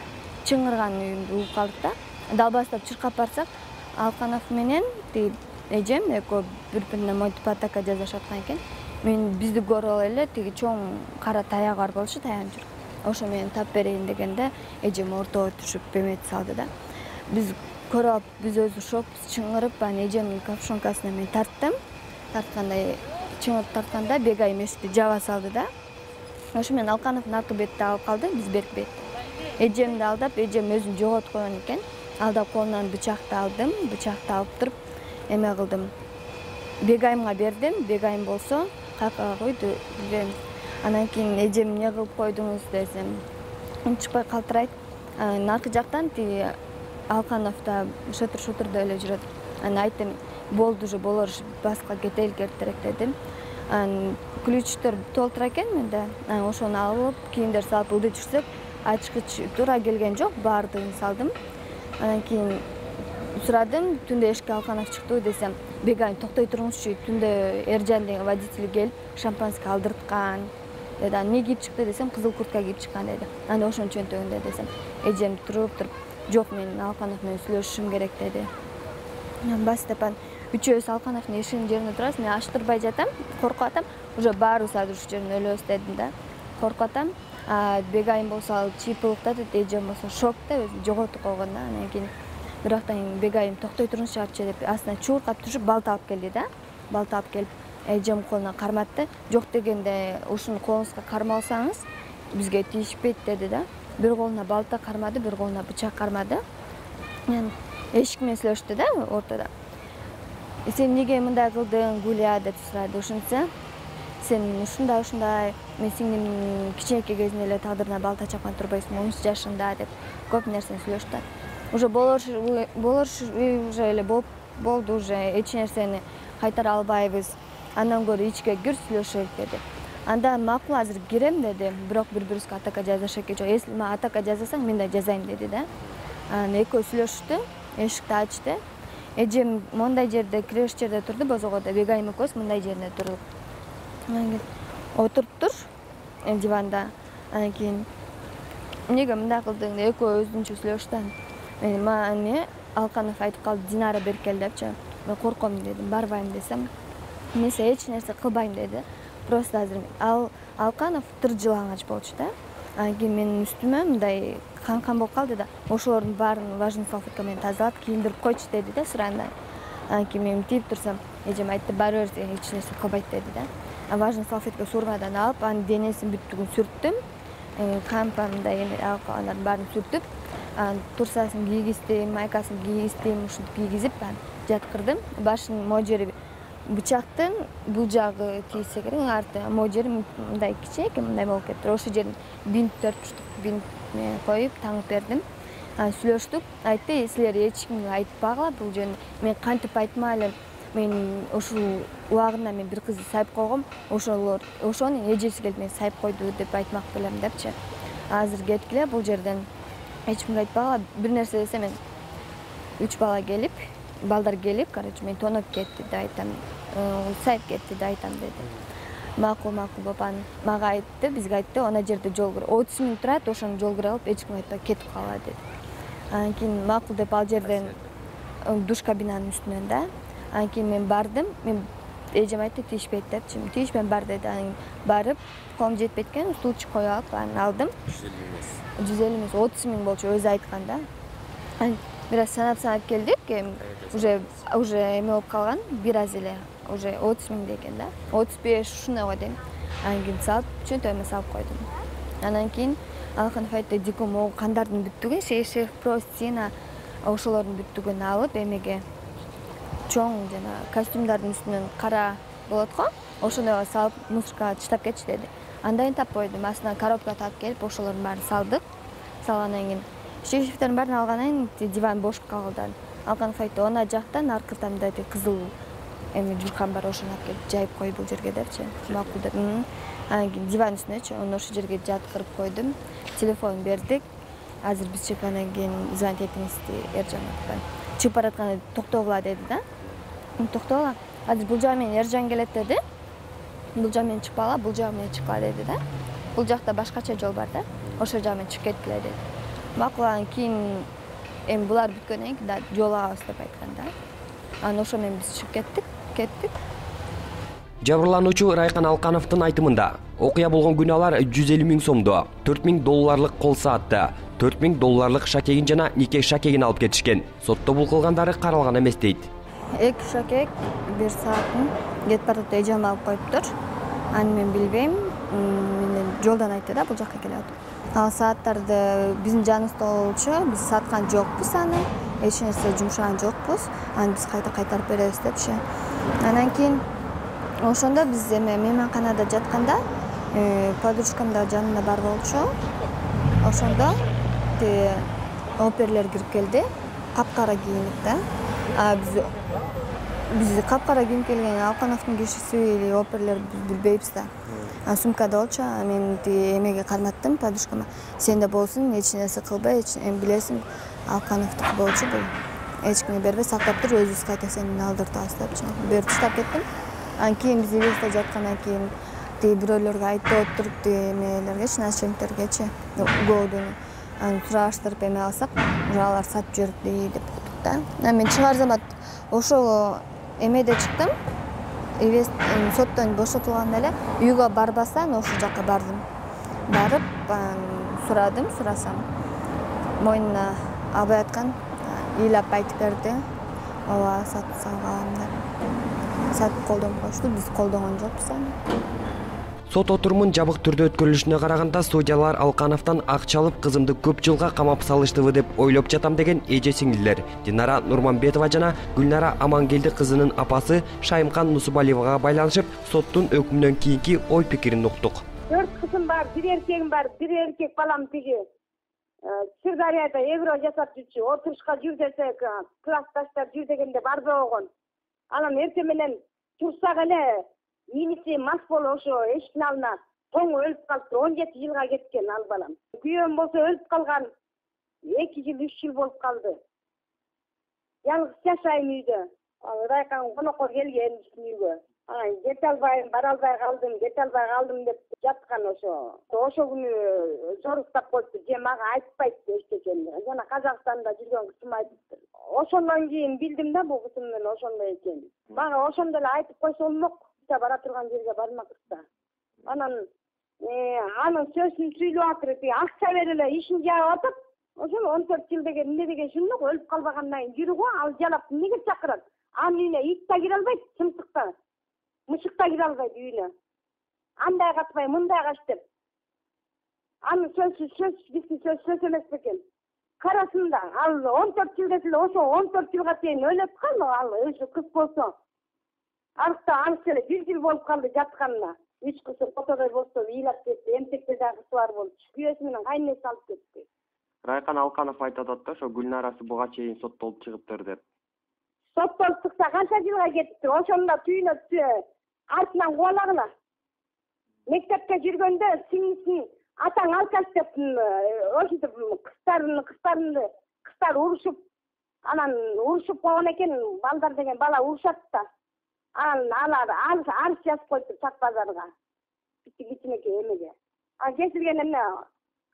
B: чыңгырган үйүмдү угуп калдык да. Далбастап чыркап барсак, Алканов менен тиги эжем экөө бири-бирине монтип атака жасашып аткан экен. Мен бизди көрүп эле тиги чоң кара таягы бар болчу, таянып жүр. Ошо менен тап берейин дегенде эжем ортого түшүп эметип салды да. Биз көрүп алып, биз өзү шокпуз, чыңгырып, анан эжемдин капшонкасына мен тарттым. Тарткандай, чыңгырып тартканда Бегайым эшикти жаба салды да. Ошо менен Алкановдун аркы бетти алып калды, биз берки бетти. Эжемди алдап, эжем өзүн жоготуп койгон экен. Алдап колунан бычакты алдым, бычакты алып туруп эме кылдым. Бегайымга бердим, Бегайым болсо каяка койду, билбейм. Анан кийин эжем эмне кылып койдуңуз десем, унчукпай калтырайт. Анан аркы жактан тиги Алканов да шотур-шотурда эле жүрөт. Анан айттым, болду уже, болор, баска кетели керек дедим. Анан ключтор толтура экен менде. Анан ошону алып, кийимдер салып ылдый жүрсөк, ачкыч туура келген жок, баардыгын салдым. Анан кийин сурадым, түндө эшикке Алканов чыктыбы десем, Бегайым токтой туруңузчу, түндө Эржан деген водитель келип, шампанский алдырткан. деди. Эмне кийип чыкты десем, кызыл куртка кийип чыккан деди. Анда ошонун чөнтөгүндө десем, эжем туруп туруп, жок мен Алканов менен сүйлөшүшүм керек деди. Бастапан үчөөбүз Алкановдун эшигинин жеринде турабыз. Мен ачтырбай жатам, коркуп атам. Уже баарыбыз азыр ушул жерден өлөбүз дедим да. Коркуп атам. Бегайым болсо ал чыйпылыкта деди, эжем болсо шокто, өзү жоготуп койгон да. Анан кийин бирактан Бегайым токтой туруңузчу арчы деп астынан чууркап түшүп балта алып келди да. Балта алып келип эжем колуна карматты. Жок дегенде ушуну колуңузга кармалсаңыз бизге тийишпейт деди да. Бир колуна балта кармады, бир колуна бычак кармады. Мен эшик менен сүйлөштү да ортодо. Сен эмнеге мындай кылдың, Гуля деп сурады. Ошентсе, сен ушундай ушундай, мен сиңдим кичинекей кезинде эле тагдырына балта чапкан турбайсың, он үч жашында деп көп нерсени сүйлөштү. Уже болор болор уже эле болду, уже эч нерсени кайтара албайбыз. Андан көрө ичке кир сүйлөшөлүк деди. Анда макул азыр кирем деди, бирок бири-бирибизге атака жазышат экен. Если ма атака жазасаң, мен да жазайм деди да. Анан экөө сүйлөштү, эшикти ачты. Эжем мондай жерде, киреш жерде турду, бозогодо Бегайым экөөбүз мындай жерде турдук. Анан кийин отуруптур диванда. Анан кийин эмнеге мындай кылдың деп экөө өзүнчө сүйлөштү. Мен мани Алканов айтып калды, Динара берип кел депчи. Мен корком дедим, барбайм десем, эмесе эч нерсе кылбайм деди. Просто азыр ал Алканов тыр жылаңач болчу да. Анан кийин менин үстүмө мындай кан-кан болуп калды да. Ошолордун баарын влажный салфетка менен тазалап, кийиндирип койчу деди да сыранда. Анан кийин мен тип турсам, эжем айтты, бара бер, эч нерсе кылбайт деди да. Анан влажный салфетка сургадан алып, анын денесинин бүттүгүн сүрттүм. Кампа мындай алкалардын баарын сүртүп, анан турсасын кийгиздим, майкасын кийгиздим, ушинтип кийгизип жаткырдым. Башынын могу жери бычактын бул жагы тийсе керек, арты могу жери мындай кичинекей мындай болуп кетти. Ошол жерин бинт төрт бурчтук бинт коюп таңып бердим. Анан сүйлөштүк. Айтты, силер эч кимге айтпагыла бул жөнүндө. Мен кантип айтма элем. Мен ушул убагында мен бир кызды сайып койгом. Ошолор, ошонун эжеси келип мени сайып койду деп айтмак белем депчи. Азыр кеткиле бул жерден. Эч кимге айтпагыла. Бир нерсе десе мен үч бала келип, балдар келип, короче, мен тоноп кетти деп айтам. Сайып кетти деп айтам деди. Макул, макул бабан мага айтты, бизге айтты, ана жерде жол кыр. отуз миң турат, ошону жол кыра алып, эч кимге айтпай кетип кала деди. Анан кийин макул деп ал жерден душ кабинанын үстүнөн да. Анан кийин мен бардым. Мен эжем айтты, тийишпейт депчи. Тийишпейм, бар деди. Анан барып, колум жетпейт экен, стульчик коюп алып, анан алдым. жүз элүү эмес, отуз миң болчу, өзү айткан да. Анан бир аз санап-санап келдик, уже уже эме болуп калган, бир аз эле. Уже отуз миң деген да. отуз беш ушундай го дейм. Анан кийин салып, чөнтөгүмө салып койдум. Анан кийин Алканов айтты, дико могу кандардын бүттүгүн, шешев, простина, ошолордун бүттүгүн алып, эмеге чоң жана костюмдардын үстүнөн кара болот го, ошондой салып мусоркага таштап кетчи деди. Андайын тап койдум, астынан коробка таап келип, ошолордун баарын салдык. Салгандан кийин шешевтердин баарын алгандан кийин диван бош калды. Алканов айтты, ана жактан аркыда мындай кызыл эми журкан бар, ошону алып келип жайып кой бул жерге депчи. Макул деп. Анан кийин диван үстүнөчү, аны ошол жерге жаткырып койдум. Телефон бердик. Азыр биз чыккандан кийин звонить этиңиз Эржан атпан. Чыгып баратканда токтогула деди да. Токтогула. Азыр бул жак менен Эржан келет деди. Бул жак менен чыкпагыла, бул жак менен чыккыла деди да. Бул жакта башкача жол бар да. Ошол жак менен чыгып кеткиле деди. Макул, анан кийин эми булар бүткөндөн кийин да жол алабыз деп айткан да. Анан ошо менен биз чыгып кеттик, кеттик.
A: Жабырлануучу Райкан Алкановдун айтымында окуя болгон күнөөлөр жүз элүү миң сомду, төрт миң долларлык кол саатты, төрт миң долларлык шакегин жана нике шакегин алып кетишкен. Сотто бул кылгандары каралган эмес дейт.
B: Эки шакек, бир саатын кетип баратып эжем алып коюптур. Аны мен билбейм. Менен жолдон айтты да, бул жакка келип. Ал сааттарды биздин жаныбызда болчу, биз саткан жокпуз аны. Эч нерсе жумшаган жокпуз. Аны биз кайта кайтарып беребиз депчи. Анан кийин ошондо биз эме мейманканада жатканда, подружкам да жанымда бар болчу. Ошондо оперлер кирип келди, капкара кийинип да. А биз биз капкара кийинип келген Алкановдун кишиси или оперлер билбейбиз да. А сумкада болчу, мен эмеге карматтым подружкама. Сенде болсун, эч нерсе кылбай, эч эми билесиң, Алкановдуку болчу бул. Эч кимге бербей сактап тур, өзүбүз кайта сени алдыртабыз депчи. Берип таштап кеттим. Анан кийин биз эбизде жаткандан кийин тиги бирөөлөргө айтып отуруп тиги эмелергечи, начальниктергечи көбүдөн аны сураштырып эме алсак, уже алар сатып жиберди деп уктук да. Мен чыгар замат ошол эмеде чыктым. Соттон бошотулганда эле үйгө барбастан ошол жака бардым. Барып сурадым, сурасам мойнуна албай аткан ыйлап айтып берди. Ооба, сатып салгам деп. Сатып колдонуп коюшту, биз колдонгон жокпуз аны.
A: Сот отурумун жабык түрдө өткөрүлүшүнө караганда судьялар Алкановдон акча алып кызымды көп жылга камап салыштыбы деп ойлоп жатам деген эже сиңдилер Динара Нурманбетова жана Гүлнара Амангелди кызынын апасы Шайымкан Нусубалиевага байланышып соттун өкүмүнөн кийинки ой пикирин уктук.
D: Төрт кызым бар, бир эркегим бар, бир эркек балам тиги Сырдарияда эвро жасап жүрчү, отурушка жүр десек, классташтар жүр дегенде барбай койгон. Анан эртең менен турсак эле иниси мас болуп ошо эшиктин алдына тоңу өлүп калыптыр. он жети жылга кеткен ал балам. Күйөөм болсо өлүп калган. эки жыл, үч жыл болуп калды. Жалгыз жашайм үйдө. Ал райкан конокко келген үйгө. Анан кете албайм, бара албай калдым, кете албай калдым деп жаткан ошо. Ошо күнү жоруктап коюпту, же мага айтпайт эчтекени. Жана Казакстанда жүргөн кызым айтыптыр. Ошондон кийин билдим да бул кызымдын ошондой экенин. Мага ошондо эле айтып койсо болмок. Бара турган жерге бармакчы да. Анан анын сөзүн сүйлөп атыр, акча береле ишин жаап атып, ошол он төрт жыл деген эмне деген шундук өлүп калбагандан кийин жүрүп ал жалап эмнеге чакырат? Анын үйүнө ит да кире албайт, чымсыкта, мышык да кире албайт үйүнө. Андай катпай, мындай кач деп. Анын сөзү сөз биздин сөз сөз эмес бекен. Карасын да, ал он төрт жыл десе эле ошо он төрт жылга чейин өлөт кал, ал өзү кыз болсо. Арыкта анысы эле бир жыл болуп калды жатканына. Үч кызы фотодой болсо ыйлап кетти, эмтекте дагы кызы бар болчу. Күйөөсү менен кайненеси алып кетти.
A: Райкан Алканов айтып атат да, ошо Гүлнарасы буга чейин соттолуп чыгыптыр деп.
D: Соттолуп чыкса канча жылга кетиптир. Ошондо түйүнө артынан кубалагыла. Мектепте жүргөндө сиңдисин атаң алкаш деп ошентип кыздарын кыздарын кыздар урушуп, анан урушуп койгон экен, балдар деген бала урушат да. Анан алар арыз жазып коюптур Чак базарга. Кичинекей эмеге. А кесилген эмне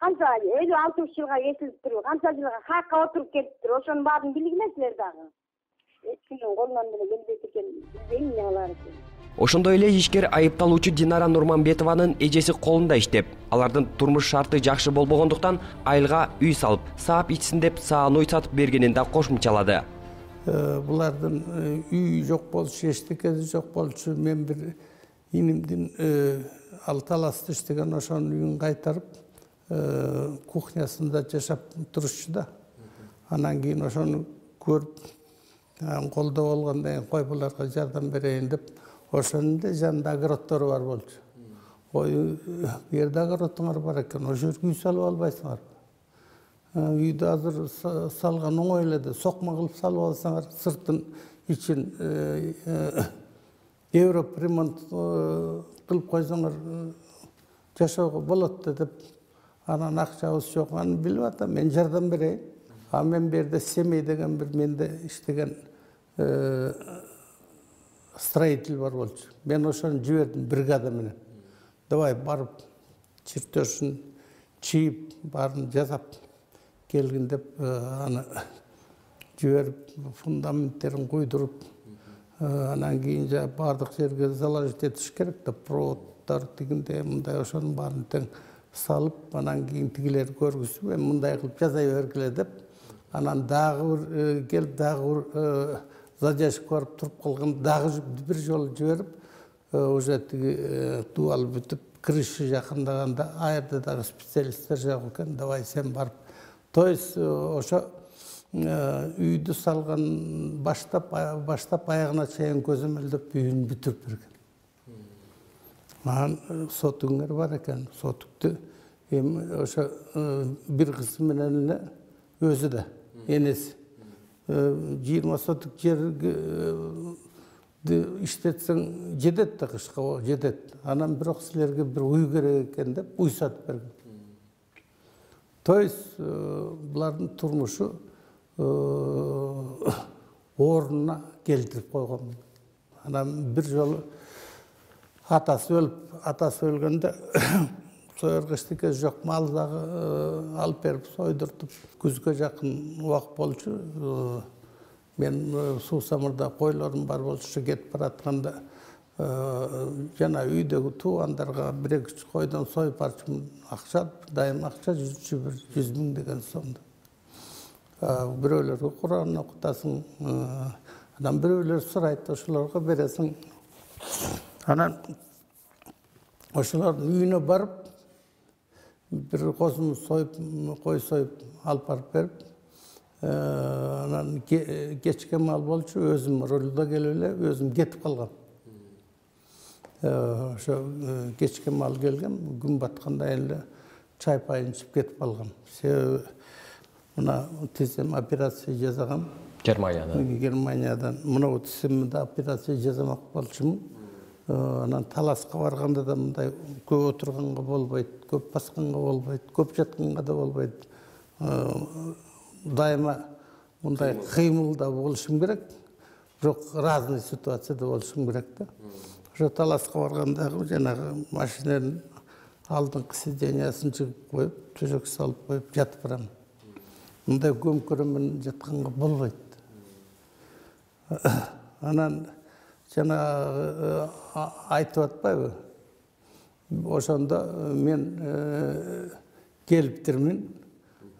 D: канча элүү алтымыш жылга кесилиптир, канча жылга хакка отуруп кетиптир. Ошонун баарын билгилесиздер дагы. Эч кимдин колунан деле келбейт экен, билбейм эмне кылар экен.
A: Ошондой эле ишкер айыпталуучу Динара Нурманбетованын эжеси колунда иштеп, алардын турмуш шарты жакшы болбогондуктан айылга үй салып, саап ичсин деп саануй сатып бергенин да кошумчалады.
C: Булардын үй жок болчу, эчтекеси жок болчу. Мен бир инимдин ал таласта иштеген ошонун үйүн кайтарып, кухнясында жашап турушчу да. Анан кийин ошону көрүп, колдоо болгондон кийин кой буларга жардам берейин деп, ошонун да жанында огороддору бар болчу. Ой, бу жерде огородуңар бар экен, ошол жерге үй салып албайсыңар. Үйдү азыр салган оңой эле да, сокма кылып салып алсаңар, сыртын ичин Европа ремонт кылып койсоңор жашоого болот да деп. Анан акчабыз жок, аны билип атам, мен жардам берейин. А мен бу жерде Семей деген бир менде иштеген строитель бар болчу. Мен ошону жибердим бригада менен. Давай барып, чертежин чийип, баарын жасап келгин деп, аны жиберип, фундаменттерин куйдуруп, анан кийин жа баардык жерге заложить этиш керек да, проводдор тигинде мындай ошонун баарын тең салып, анан кийин тигилер көргүзүп, эми мындай кылып жасай бергиле деп, анан дагы бир келип, дагы бир задержка барып туруп калган, дагы бир жолу жиберип, уже тиги дубал бүтүп, крыша жакындаганда, а жерде дагы специалисттер жок экен, давай сен барып. То есть ошо үйдү салган баштап баштап аягына чейин көзөмөлдөп үйүн бүтүрүп берген. Анан сотуңар бар экен, сотукту эми ошо бир кызы менен эле өзү да, энеси жыйырма сотук жерди иштетсең жетет да, кышка жетет. Анан бирок силерге бир үй керек экен деп үй сатып берген. То есть булардын турмушу ордуна келтирип койгон. Анан бир жолу атасы өлүп, атасы өлгөндө сойоргочтуке жок, мал дагы алып берип сойдуртуп, күзгө жакын убак болчу. Мен Суусамырда койлорум бар болчу, кетип баратканда жана үйдөгү туугандарга бир эки үч койдон союп барчумун. Акча, дайым акча жүрчү, бир жүз миң деген сомдо. Бирөөлөргө Кур'ан окутасың, анан бирөөлөр сурайт, ошолорго бересиң. Анан ошолордун үйүнө барып, бир козун союп, кой союп алып барып берип, анан кечке мал болчу, өзүм рулда келип эле, өзүм кетип калгам. Ошо кечке мал келген, күн батканда эле чайпайын ичип кетип калгам. Себеби мына тизем операция жасагам.
A: Германиядан.
C: Германиядан. Мына тиземди операция жасамак болчумун. Анан Таласка барганда да мындай көп отурганга болбойт, көп басканга болбойт, көп жатканга да болбойт. Дайыма мындай кыймылда болушум керек, бирок разный ситуацияда болушум керек да. Ошо Таласка баргандагы жанагы машинанын алдыңкы сидениясын чыгып коюп, төшөк салып коюп жатып барам. Мындай көмкөрө менен жатканга болбойт. Анан жана айтып атпайбы? Ошондо мен келиптирмин.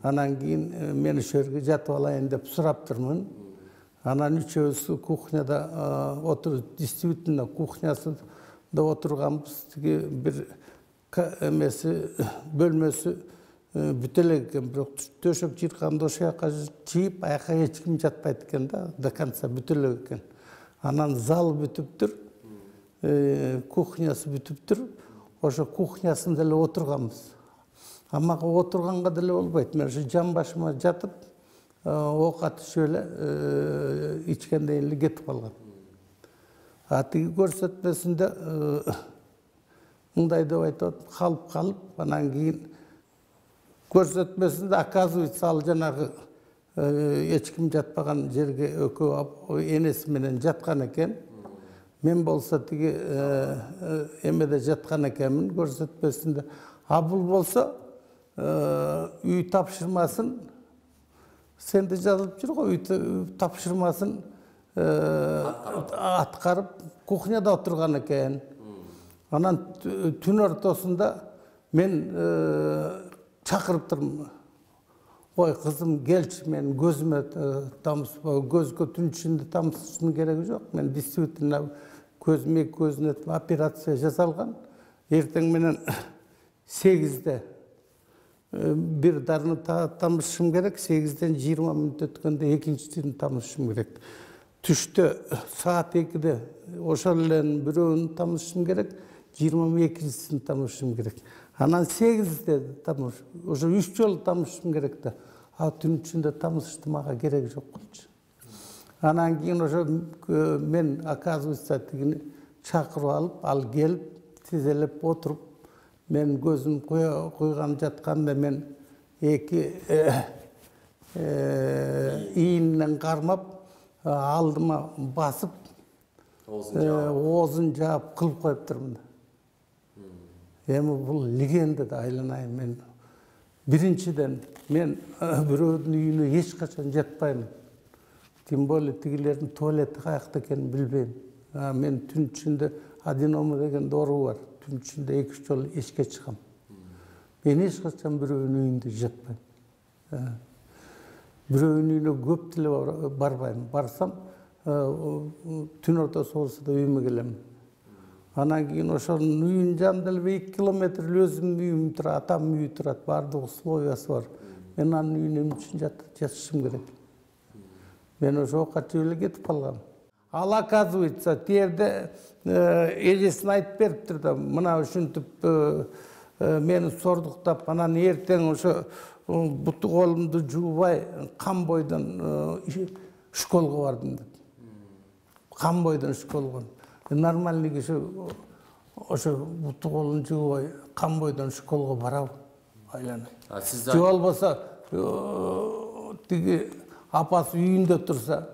C: Анан кийин мен ошол жерге жатып алайын деп сураптырмын. Анан үчөөбүз кухняда отуруп, действительно кухнясында отурганбыз. Тиги бир эмеси, бөлмөсү бүтө элек экен, бирок төшөк жырканды ошол жака чийип, аяка эч ким жатпайт экен да, до конца бүтө элек экен. Анан зал бүтүптүр, кухнясы бүтүптүр. Ошо кухнясында эле отурганбыз. Мага отурганга деле болбойт. Мен ошо жан башыма жатып, оокат ичип эле ичкенден эле кетип калгам. А тиги көрсөтмөсүндө мындай деп айтат, калып калып, анан кийин көрсөтмөсүндө оказывается ал жанагы эч ким жатпаган жерге экөө энеси менен жаткан экен. Мен болсо тиги эмеде жаткан экенмин көрсөтмөсүндө. А бул болсо үй тапшырмасын, сенде жазылып жүр го, үй тапшырмасын аткарып кухняда отурган экен. Анан түн ортосунда мен чакырыптырмын. Ой, кызым, келчи, мен көзүмө тамызба, көзгө түн ичинде тамызыштын кереги жок. Мен действительно көзүм эки көзүнө операция жасалган. Эртең менен сегизде бир дарыны тамызышым керек, сегизден жыйырма мүнөт өткөндө экинчисин тамызышым керек. Түштө саат экиде ошол эле бирөөнү тамызышым керек, жыйырма экинчисин тамызышым керек. Анан сегизде тамыз, ошо үч жолу тамызышым керек да. А түн ичинде тамызышты мага кереги жок болчу. Анан кийин ошо мен оказывается тигини чакырып алып, ал келип, тизелеп отуруп, мен көзүм куйган жатканда мен эки ийинен кармап, алдыма басып, оозун жаап кылып коюптурмун. Эми бул легенда да айланайын мен. Биринчиден мен бирөөнүн үйүнө эч качан жатпайм. Тем более тигилердин туалети каякта экенин билбейм. Мен түн ичинде аденома деген оору бар. Түн ичинде эки үч жолу эшикке чыгам. Мен эч качан бирөөнүн үйүндө жатпайм. Бирөөнүн үйүнө көп деле барбайм. Барсам түн ортосу болсо да үйүмө келем. Анан кийин ошонун үйүнүн жанында эле эки километр өзүмдүн үйүм турат, атамдын үйү турат, баардыгы условиясы бар. Мен анын үйүнө эмне үчүн жатышым керек? Мен ошо оокат жеп эле кетип калгам. Ал оказывается, тиерде эжесин айтып бериптир да, мына ушинтип мени сордуктап, анан эртең ошо буту колумду жуубай, кан бойдон школго бардым деп. Кан бойдон школго. Нормальный киши ошо буту колун жуубай, кан бойдон школго барабы? Айланай. Же болбосо тиги апасы үйүндө турса,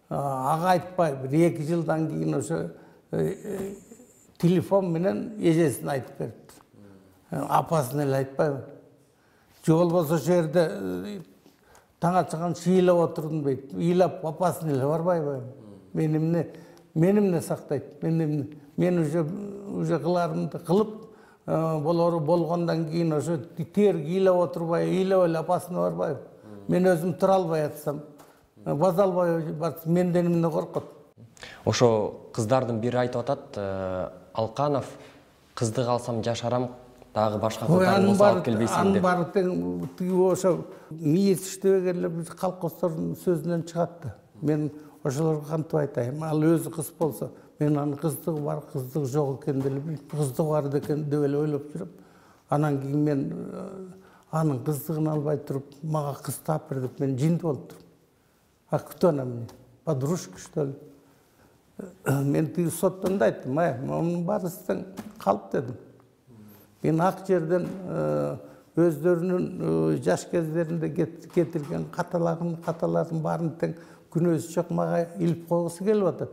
C: ага айтпай, бир эки жылдан кийин ошо телефон менен эжесин айтып берипти. Апасын эле айтпайбы. Же болбосо ошол жерде таң атчан шыйлап отурдум дейт. Ыйлап апасын эле барбайбы? Мени эмне, мени эмне сактайт? Мен мен уже уже кыларымды кылып, болору болгондон кийин ошо тер ыйлап отурбай, ыйлап эле апасына барбайбы? Мен өзүм тура албай атсам, база албай барсам, менден эмне коркот?
A: Ошо кыздардын бири айтып атат, Алканов кызды калсам жашарам, дагы башка кыздарды кошо алып келбейсиң деп.
C: Анын баары тең тиги ошо мээси иштебегенлер бир колхоздордун сөзүнөн чыгат да. Мен ошолорго кантип айтайын? Ал өзү кыз болсо, мен анын кыздыгы бар, кыздыгы жок экенин эле билип, кыздыгы бар экен деп эле ойлоп жүрөм. Анан кийин мен анын кыздыгын албай туруп, мага кыз таап бер деп мен жинди болуп турум. А кто на мне? Подружка, что ли? Мен тиги соттон да айттым, ай, мунун баарысынан калып дедим. Мен ак жерден өздөрүнүн жаш кездеринде кетирген каталарын, каталарын баарын тең күнөөсү жок мага илип койгусу келип атат.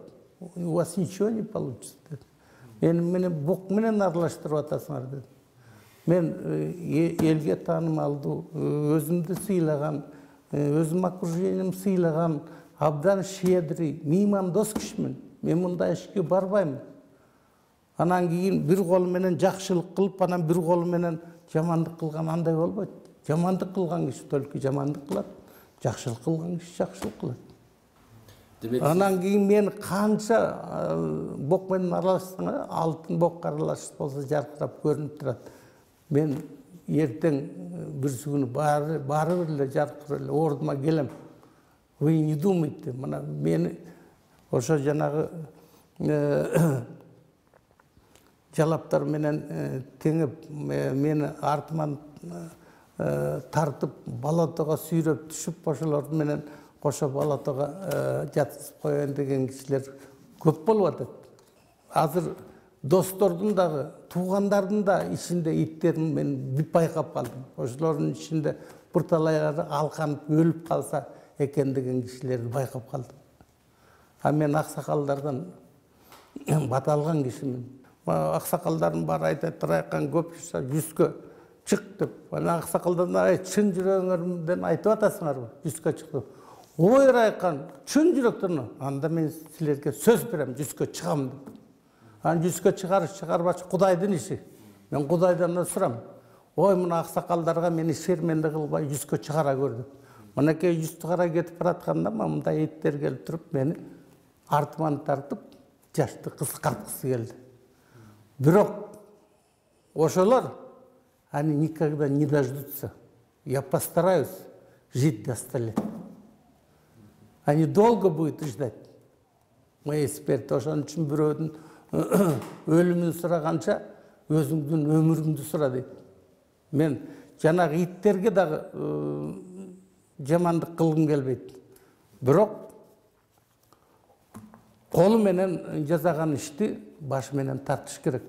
C: У вас ничего не получится деди. Мен менен бук менен аралаштырып атасыңар деди. Мен элге таанымалдуу, өзүмдү сыйлаган, өзүм окружением сыйлаган, абдан щедрый, меймандос кишимин. Мен мындай ишке барбайм. Анан кийин бир колу менен жакшылык кылып, анан бир колу менен жамандык кылган андай болбойт. Жамандык кылган киши только жамандык кылат, жакшылык кылган киши жакшылык кылат. Анан кийин мен канча бок менен аралашсаң, алтын бокко аралашып болсо жаркырап көрүнүп турат. Мен эртең бирси күнү баары баары бир эле жаркырап эле ордума келем. Вы не думайте, мына мени ошо жанагы жалаптар менен теңеп, мени артыман тартып, балатога сүйрөп түшүп, ошолор менен кошо балатога жаткызып коёюн деген кишилер көп болуп атат. Азыр достордун дагы, туугандардын да ичинде иттерин мен байкап калдым. Ошолордун ичинде бир талайлары алканып өлүп калса экен деген кишилерди байкап калдым. А мен аксакалдардан бата алган кишимин. Аксакалдардын баары айтат, Райкан көп жаса жүзгө чык деп. Анан аксакалдардан ай чын жүрөгүңөрдөн айтып атасыңарбы? Жүзгө чык деп. Ой Райкан, чын жүрөктөн, анда мен силерге сөз берем, жүзгө чыгам деп. Анан жүзгө чыгарыш чыгарбач Кудайдын иши. Мен Кудайдан да сурам. Ой мына аксакалдарга мени шерменде кылбай жүзгө чыгара көр деп. Мынакей жүздү карай кетип баратканда мындай иттер келип туруп мени артыман тартып жашты кыскарткысы келди. Бирок ошолор они никогда не дождутся. Я постараюсь жить до ста лет. Они долго будут ждать моей смерти. Ошон үчүн бирөөдүн өлүмүн сураганча өзүңдүн өмүрүңдү сура дейт. Мен жанагы иттерге дагы жамандык кылгым келбейт. Бирок колу менен жасаган ишти баш менен тартыш керек.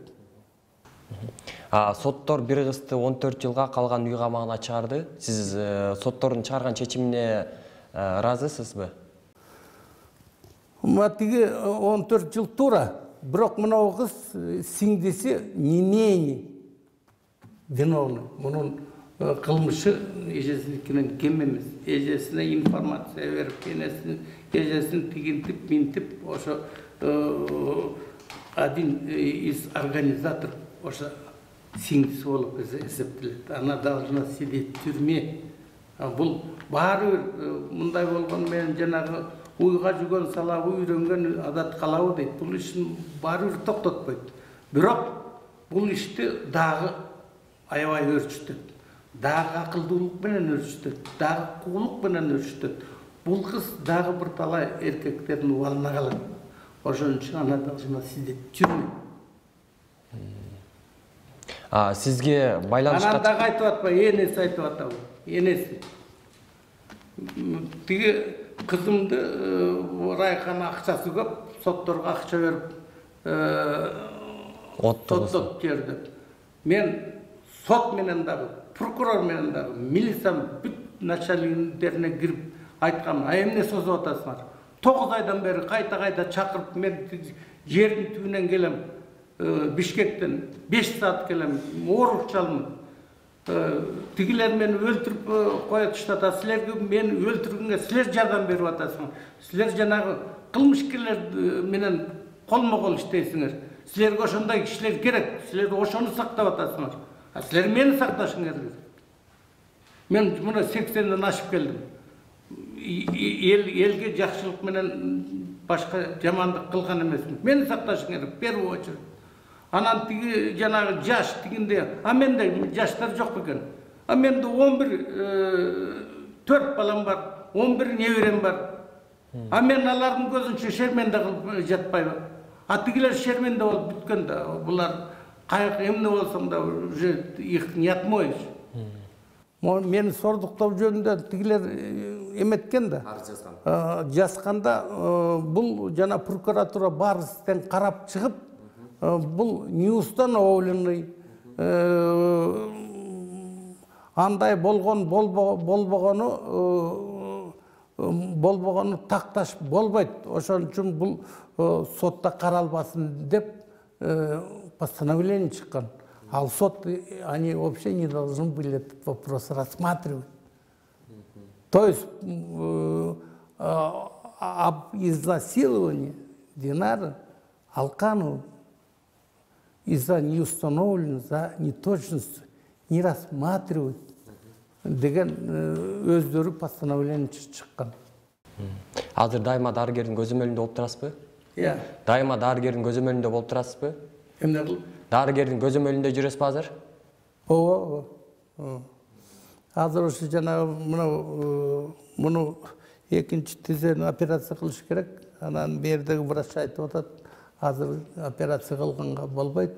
A: Соттор бир кызды он төрт жылга калган үй камагына чыгарды. Сиз соттордун чыгарган чечимине ыраазысызбы?
C: Тиги он төрт жыл туура. Бирок мына кыз сиңдиси не менее виновный. Мунун кылмышы эжесиникинен кем эмес. Эжесине информация берип, эжесин тигинтип, минтип, ошо один из организаторов, ошо сиңдиси болуп эсептелет. Она должна сидеть в тюрьме. Бул баары мындай болгон менен жанагы уйга жүгөн салабы үйрөнгөн адат калабы дейт. Бул ишин баары бир токтотпойт. Бирок бул ишти дагы аябай өрчүтөт. Дагы акылдуулук менен өрчүтөт. Дагы куулук менен өрчүтөт. Бул кыз дагы бир талай эркектердин убалына калат. Ошон үчүн ана должна сидеть в тюрьме.
A: А сизге байланышка
C: анан дагы айтып атпайбы, энеси айтып атабы? Энеси. Тиги кызымды Райкан акчасы көп, сотторго акча берип соттоп жерди. Мен сот менен дагы, прокурор менен дагы, милициянын бүт начальниктерине кирип айткам, а эмне созуп атасыңар? тогуз айдан бери кайта-кайта чакырып, мен жердин түбүнөн келем. Бишкектен беш саат келем, оорукчалмын. Тигилер мени өлтүрүп кое туштат, силерге мени өлтүргөнгө силер жардам берип атасыңар. Силер жанагы кылмышкерлер менен колмо-кол иштейсиңер. Силерге ошондой кишилер керек, силер ошону сактап атасыңар. А силер мени сакташыңар керек. Мен мына сексенден ашып келдим. Эл элге жакшылык менен башка жамандык кылган эмесмин. Мени сакташың керек, первый очередь. Анан тиги жанагы жаш тигинде, а менде жаштар жок экен. А менде он бир төрт балам бар, он бир неберем бар. А мен алардын көзүнчө шерменде кылып жатпайбы? А тигилер шерменде болуп бүткөн да, булар кайык эмне болсоң да уже их не отмоешь. Мени сордуктоо жөнүндө тигилер эметкен да. Арыз жазган. Жазганда бул жана прокуратура баарыбыздан карап чыгып, бул неустановленный, андай болгон болбогону болбогону такташ болбойт. Ошон үчүн бул сотто каралбасын деп постановление чыккан. А сот, они вообще не должны были этот вопрос рассматривать. То есть об изнасиловании Динары Алкановой из-за неустановленной, за неточность не рассматривать деген өздөрү постановление чыккан.
A: Азыр дайыма дарыгердин көзөмөлүндө болуп турасызбы?
C: Иә.
A: Дайыма дарыгердин көзөмөлүндө болуп турасызбы?
C: Эмне кылып?
A: Дарыгердин көзөмөлүндө жүрөсүзбү азыр?
C: Ооба. Азыр ошо жана мына муну экинчи тизени операция кылыш керек. Анан бердеги врач айтып атат, азыр операция кылганга болбойт.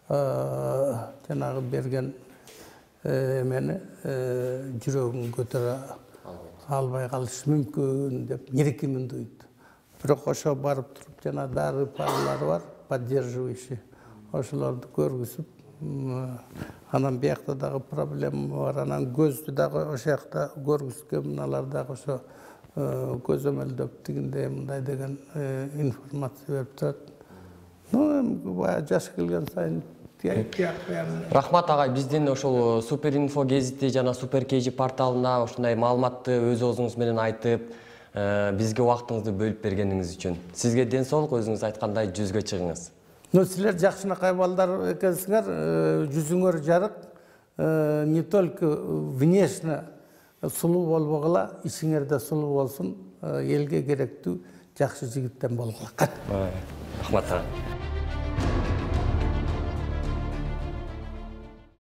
C: Жанагы берген эмени жүрөгүн көтөрө албай калышы мүмкүн деп нерекемин дейт. Бирок ошо барып туруп жана дары паралары бар, поддерживающий. Ошолорду көргүзүп, анан биякта дагы проблема бар, анан көздү дагы ошо жакта көргүзгөн, мыналар дагы ошо көзөмөлдөп тигинде мындай деген информация берип турат. Ну, баягы жаш келген сайын
A: Рахмат агай, биздин ошол Супер Инфо гезити жана Супер Кей Жи порталына ушундай маалыматты өз оозуңуз менен айтып, бизге убактыңызды бөлүп бергениңиз үчүн. Сизге ден соолук, өзүңүз айткандай жүзгө чыгыңыз.
C: Ну, силер жакшынакай балдар экенсиңер, жүзүңөр жарык, не только внешне сулуу болбогула, ичиңерде сулуу болсун, элге керектүү жакшы жигиттен болгула.
A: Рахмат.